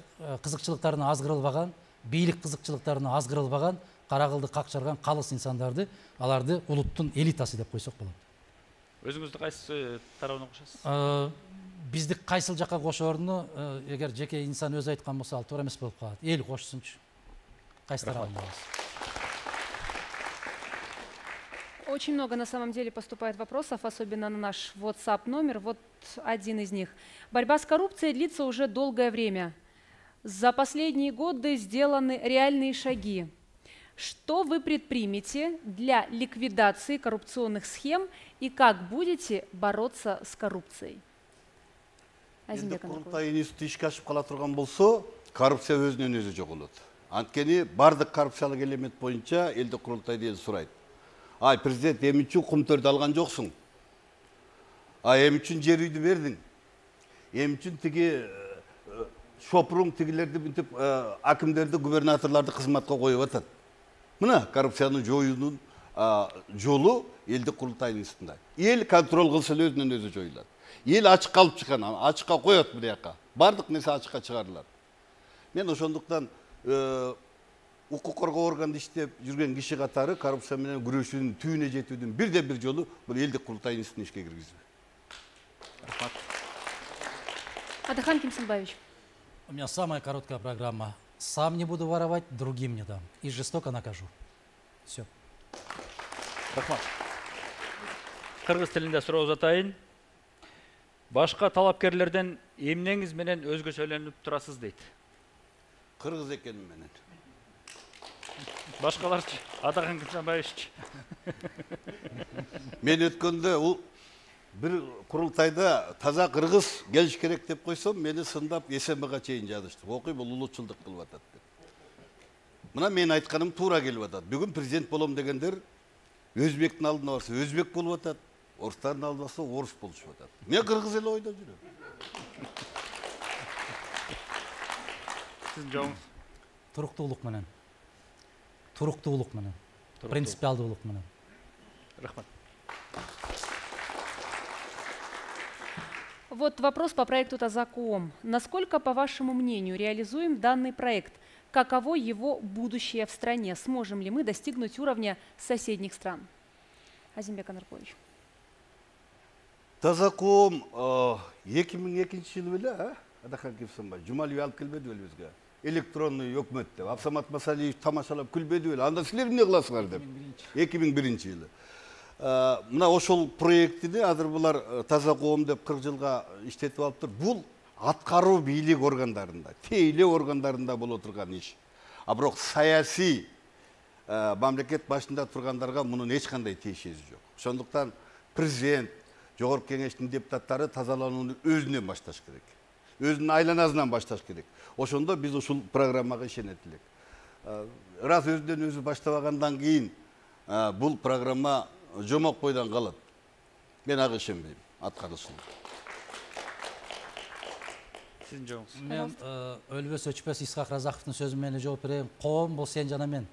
кызыкчылыктарына аз кырылбаган, бийлик кызыкчылыктарына аз кырылбаган, кара кылды какчарган калыс инсандарды, аларды улуттун элитасы деп койсок болот. Өзүңүздү кайсы тарабына кошосуз? Бизди кайсыл жакка кошооруну эгер жеке инсан өзү айткан болсо ал туура эмес болуп калат. Эл кошсунчу. Кайсы тарабында болосуз? Очень много на самом деле поступает вопросов, особенно на наш WhatsApp номер. Вот один из них. Борьба с коррупцией длится уже долгое время. За последние годы сделаны реальные шаги. Что вы предпримете для ликвидации коррупционных схем и как будете бороться с коррупцией? Курултай институты ишке ашып кала турган болсо, коррупция өзүнөн өзү жоголот. Анткени бардык коррупциялык элемент боюнча элдик курултайдан сурайт. Ай, президент, эми үчүн кумтөрдү алган жоксуң. Эми үчүн жер үйдү бердиң. Эми үчүн тиги шопуруң тигилерди бүтүп акимдерди, губернаторлорду кызматка коюп атат. Мына коррупцияны жоюунун жолу элдик курултайдын институтунда. Эл контроль кылса өзүнөн өзү жоюлат. Ел ачыкка алып чыккан, ачыкка коет бул жака. Бардык нерсе ачыкка чыгарылат. Мен ошондуктан укук коргоо органында иштеп жүргөн киши катары коррупция менен күрөшүүнүн түбүнө жетүүдүн бирден бир жолу бул элдик курултай институтун ишке киргизүү. Рахмат. Адахан Кимсенбаевич. У меня самая короткая программа. Сам не буду воровать, другим не дам. И жестоко накажу. Все. Рахмат. Кыргыз тилинде суроо узатайын. Башка талапкерлерден эмнеңиз менен өзгөчөлөнүп турасыз дейт. Кыргыз экеним менен. Башкаларчы, Адахан Кимсенбаевич. Мен өткөндө бир курултайда таза кыргыз келиш керек деп койсом, мени сындап СМБга чейин жазышты. Окуй, бул улутчулдук кылып атат деп. Мына мен айтканым туура келип атат. Бүгүн президент болом дегендер өзбектин алдына барса өзбек болуп атат, орустардын алдына барса орус болушуп атат. Мен кыргыз эле ойдо жүрөм. Сиздин жообуңуз? Туруктуулук менен. Туруктуулук менен. Принципиалдуулук менен. Рахмат. Вот вопрос по проекту Тазаком. Насколько, по вашему мнению, реализуем данный проект? Каково его будущее в стране? Сможем ли мы достигнуть уровня соседних стран? Азимбек Анаркович. Тазаком 2002-жылы беле, Адахан Кимсенбаевич, Жумалиев алып келбеди беле бизге. Электронный өкмөт деп, Абсамат Масалиев тамашалап күлбеди беле. Анда силер эмне кыласыңар деп. 2001-жылы. Мына ошол проектини азыр булар Таза коом деп 40 жылга иштетип алыптыр. Бул аткаруу бийлик органдарында, тейлөө органдарында боло турган иш. Бирок саясий мамлекет башында тургандарга мунун эч кандай тиешеси жок. Ошондуктан президент, жогорку кеңештин депутаттары тазаланууну өзүнөн башташ керек. Өзүнүн айланасынан башташ керек. Ошондо биз ушул программага ишенет элек. Раз өзүнөн өзү баштабагандан кийин бул программа жомок бойдон калат. Мен ага ишенбейм, аткарылышына. Сиздин жообуңуз? Мен өлбөс өчпөс Исхак Разаковдун сөзү менен жооп берейин. Коом бул сен жана мен.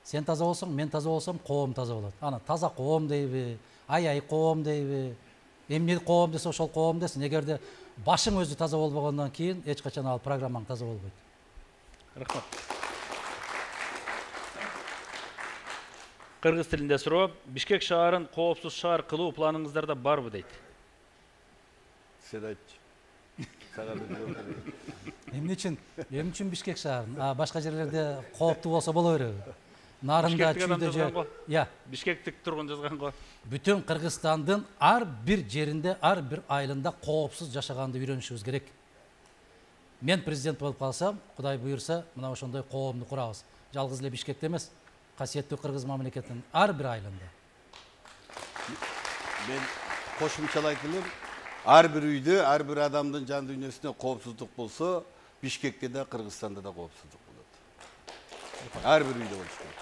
Сен таза болсоң, мен таза болсом, коом таза болот. Ана таза коом дейби, ай коом дейби. Эмне коом десе ошол коом десин. Эгерде башың өзү таза болбогондон кийин эч качан ал программаң таза болбойт. Рахмат. Кыргыз тилинде суроо. Бишкек шаарын коопсуз шаар кылуу планыңыздарда барбы дейт. Сен айтчы. Эмне үчүн Бишкек шаарын? Башка жерлерде кооптуу болсо боло береби? Нарында, Чүйдө же. Я. Бишкектик тургун жазган го. Бүтүн Кыргызстандын ар бир жеринде, ар бир айылында коопсуз жашаганды үйрөнүшүбүз керек. Мен президент болуп калсам, Кудай буйрса, мына ошондой коомду курабыз. Жалгыз эле Бишкекте эмес, касиеттүү кыргыз мамлекетинин ар бир айылында. Мен кошумчалайт элем, ар бир үйдө, ар бир адамдын жан дүйнөсүнө коопсуздук болсо, Бишкекте да, Кыргызстанда да коопсуздук болот. Ар бир үйдө болуш керек.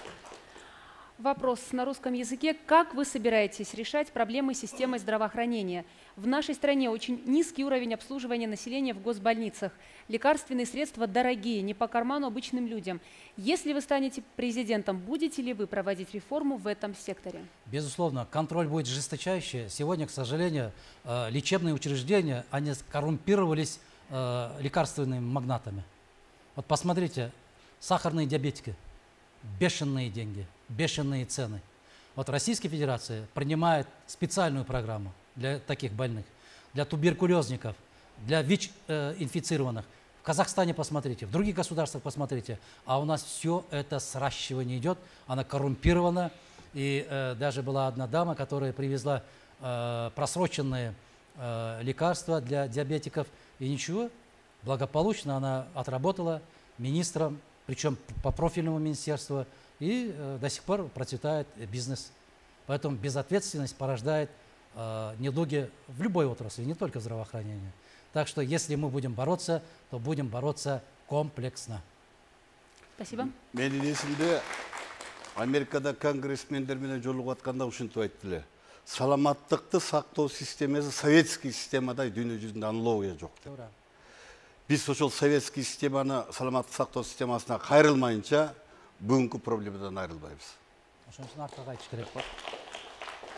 Вопрос на русском языке. Как вы собираетесь решать проблемы системы здравоохранения? В нашей стране очень низкий уровень обслуживания населения в госбольницах. Лекарственные средства дорогие, не по карману обычным людям. Если вы станете президентом, будете ли вы проводить реформу в этом секторе? Безусловно, контроль будет жесточайший. Сегодня, к сожалению, лечебные учреждения, они коррумпировались лекарственными магнатами. Вот посмотрите, сахарные диабетики, бешеные деньги, бешеные цены. Вот Российская Федерация принимает специальную программу для таких больных, для туберкулезников, для ВИЧ-инфицированных. В Казахстане посмотрите, в других государствах посмотрите, а у нас все это сращивание идет, она коррумпирована. И даже была одна дама, которая привезла просроченные лекарства для диабетиков, и ничего, благополучно она отработала министром, причем по профильному министерству, и до сих пор процветает бизнес. Поэтому безответственность порождает недуги в любой отрасли, не только в здравоохранении. Так что если мы будем бороться, то будем бороться комплексно. Спасибо. Менин эсимде Америкада конгрессмендер менен жолугуп атканда ушинтип айттылар. Саламаттыкты сактоо системасы советский системадай дүйнө жүзүндө аналогия жок деп. Биз ошол советский системаны, саламаттык сактоо системасына кайрылмайынча бүгүнкү проблемадан айрылбайбыз. Ошон үчүн артка кайтыш керек.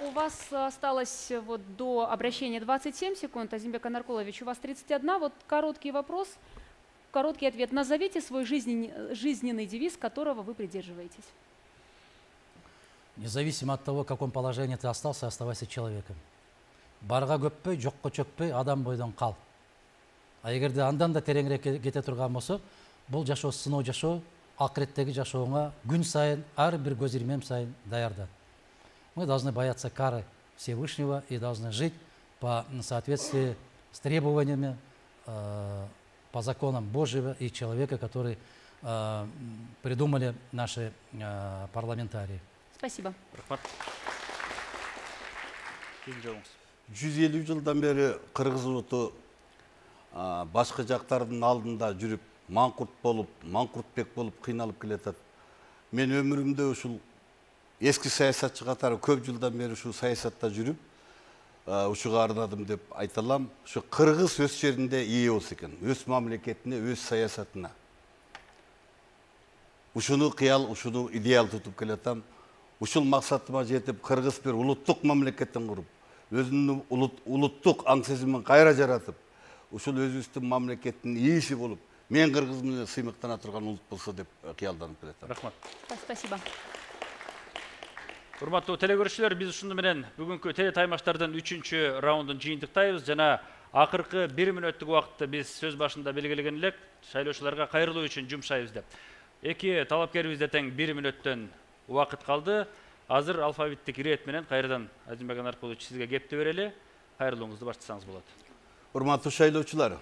У вас осталось вот до обращения 27 секунд. Азимбек Анаркулович, у вас 31. Вот короткий вопрос, короткий ответ. Назовите свой жизненный девиз, которого вы придерживаетесь. Независимо от того, в каком положении ты остался, оставайся человеком. Барга көппөй, жокко чөкпөй, адам бойдон кал. А эгерде андан да тереңирээк кете турган болсок, бул жашоо сыноо жашоо, акыреттеги жашооңа күн сайын, ар бир көз ирмем сайын даярдан. Мы должны бояться кары Всевышнего и должны жить по соответствии с требованиями, по законам Божьего и человека, который придумали наши парламентарии. Спасибо. 150 жылдан бери кыргыз улуту башка жактардын алдында жүрүп, маңкуртбек болуп кыйналып келатат. Мен өмүрүмдө ушул эски саясатчы катары көп жылдан бери ушул саясатта жүрүп, ушуга арнадым деп айта алам. Ушу кыргыз өз жеринде ээ болсо экен, өз мамлекетине, өз саясатына. Ушуну кыял, ушуну идеал тутуп келатам. Ушул максатыма жетип, кыргыз бир улуттук мамлекеттин куруп, өзүнүн улуттук аң сезимин кайра жаратып, ушул өзүбүздүн мамлекеттин ээси болуп, мен кыргыз менен сыймыктана турган улут болсо деп кыялданып келатам. Рахмат. Спасибо. Урматтуу телекөрүүчүлөр, биз ушуну менен бүгүнкү телетаймаштардын 3-чү раундун жыйынтыктайбыз. Жана акыркы 1 мүнөттүк убакытты биз сөз башында белгилеген элек, шайлоочуларга кайрылуу үчүн жумшайбыз деп. Эки талапкерибизде тең 1 мүнөттөн убакыт калды. Азыр алфавиттик ирет менен кайрадан Азимбек Анаркулович сизге кепти берели. Кайрылууңузду баштасаңыз болот. Урматтуу шайлоочулар,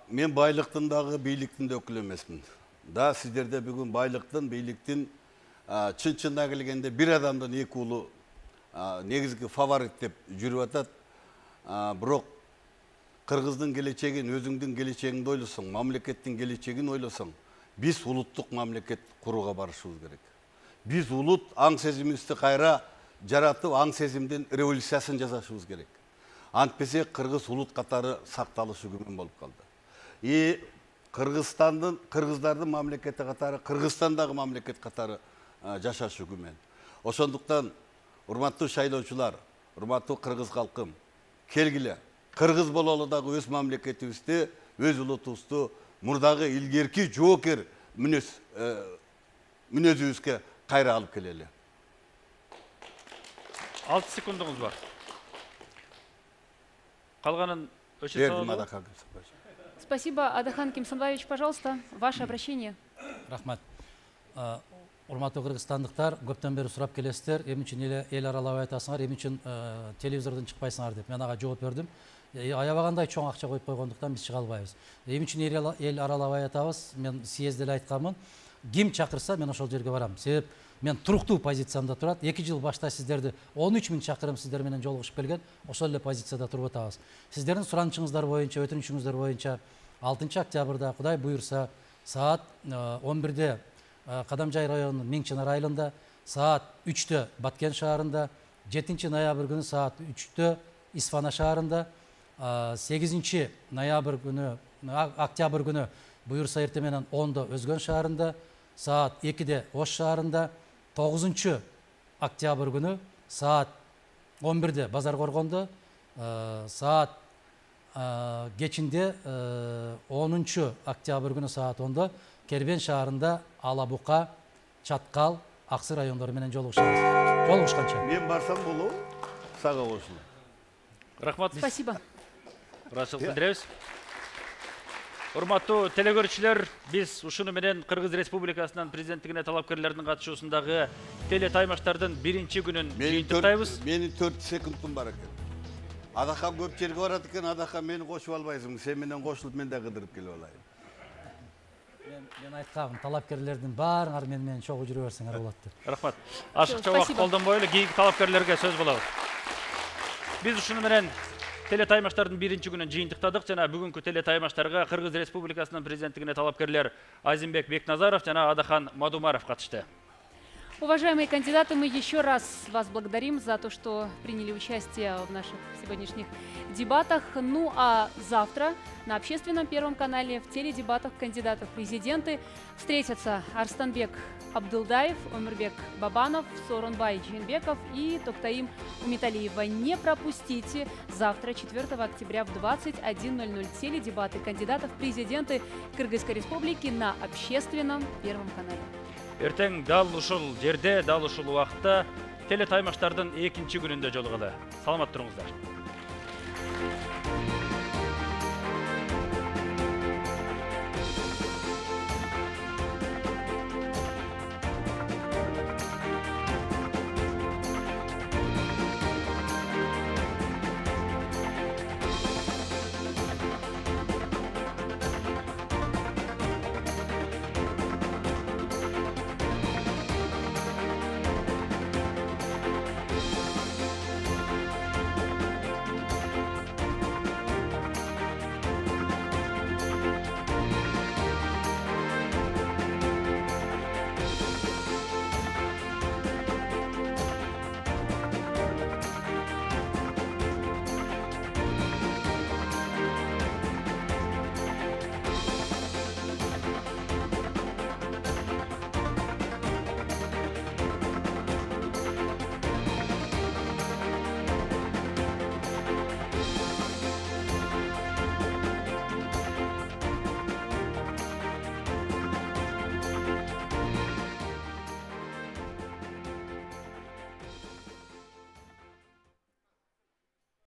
мен байлыктын дагы бийликтин да өкүлү эмесмин. Да, сиздерде бүгүн байлыктын, бийликтин чын-чынына келгенде бир адамдын эки уулу негизги фаворит деп жүрүп атат. Бирок кыргыздын келечегин, өзүңдүн келечегиңди ойлосоң, мамлекеттин келечегин ойлосоң, биз улуттук мамлекет курууга барышыбыз керек. Биз улут аң сезимибизди кайра жаратып, аң сезимдин революциясын жасашыбыз керек. Антпесе кыргыз улут катары сакталышы күмөн болуп калды. И кыргыздардын мамлекети катары, Кыргызстандагы мамлекет катары жашашы күмөн. Ошондуктан, урматтуу шайлоочулар, урматтуу кыргыз калкым, келгиле. Кыргыз бололу дагы өз мамлекетибизди, өз улутубузду мурдагы илгерки жоокер мүнөзүбүзгө кайра алып келели. 6 секундуңуз бар. Калганын өчө салуу. Спасибо. Адахан Кимсанбаевич, пожалуйста, ваше обращение. Рахмат. Урматтуу кыргызстандыктар, көптөн бери сурап келесиздер, эмне үчүн эл аралабай атасыңар, эмне үчүн телевизордон чыкпайсыңар деп. Мен ага жооп бердим. Аябагандай чоң акча коюп койгондуктан биз чыга албайбыз. Эмне үчүн эл аралабай атабыз? Мен съездде эле айтканмын. Ким чакырса, мен ошол жерге барам. Себеп мен туруктуу позициямда турат. 2 жыл башта сиздерди 13 000 чакырым сиздер менен жолугушуп келген, ошол эле позицияда туруп атабыз. Сиздердин суранычыңыздар боюнча, өтүнүчүңүздөр боюнча 6 октябрда Кудай буйрса саат 11-де Кадамжай районунун Миңчинар айылында, саат 3-тө Баткен шаарында, 7 ноябрь күнү саат 3-тө Исфана шаарында, 8 ноябрь күнү, октябрь күнү буюрса эртең менен 10-до Өзгөн шаарында, саат 2-де Ош шаарында, 9 октябрь күнү саат 11-де Базар Коргондо, саат кечинде 10 октябрь күнү саат 10-до Кербен шаарында Ала Бука, Чаткал, Аксы райондору менен жолугушабыз. Жолугушканча. Мен барсам болобу? Сага кошулам. Рахмат. Спасибо. Ыраазычылык билдиребиз. Урматтуу телекөрүүчүлөр, биз ушуну менен Кыргыз Республикасынын президенттигине талапкерлердин катышуусундагы телетаймаштардын 1-күнүн жыйынтыктайбыз. Менин 4 секундум бар экен. Адакам көп жерге барат экен, адакам мени кошуп албайсың. Сен менен кошулуп мен да кыдырып келип алайын. Мен айткам, талапкерлердин баарыңар менен чогуу жүрө берсеңер болот деп. Рахмат. Ашыкча убакыт колдонбойлу, кийинки талапкерлерге сөз болобуз. Биз ушуну менен телетаймаштардын 1-күнүн жыйынтыктадык жана бүгүнкү телетаймаштарга Кыргыз Республикасынын президенттигине талапкерлер Азимбек Бекназаров жана Адахан Мадумаров катышты. Уважаемые кандидаты, мы еще раз вас благодарим за то, что приняли участие в наших сегодняшних дебатах. Ну а завтра на общественном Первом канале в теледебатах кандидатов в президенты встретятся Арстанбек Абдылдаев, Омирбек Бабанов, Сооронбай Жээнбеков и Токтаим Умиталиева. Не пропустите завтра, 4 октября в 21:00 теледебаты кандидатов в президенты Кыргызской Республики на общественном Первом канале. Эртең дал ушул жерде, дал ушул убакытта телетаймаштардын 2-күнүндө жолугалы. Саламат туруңуздар.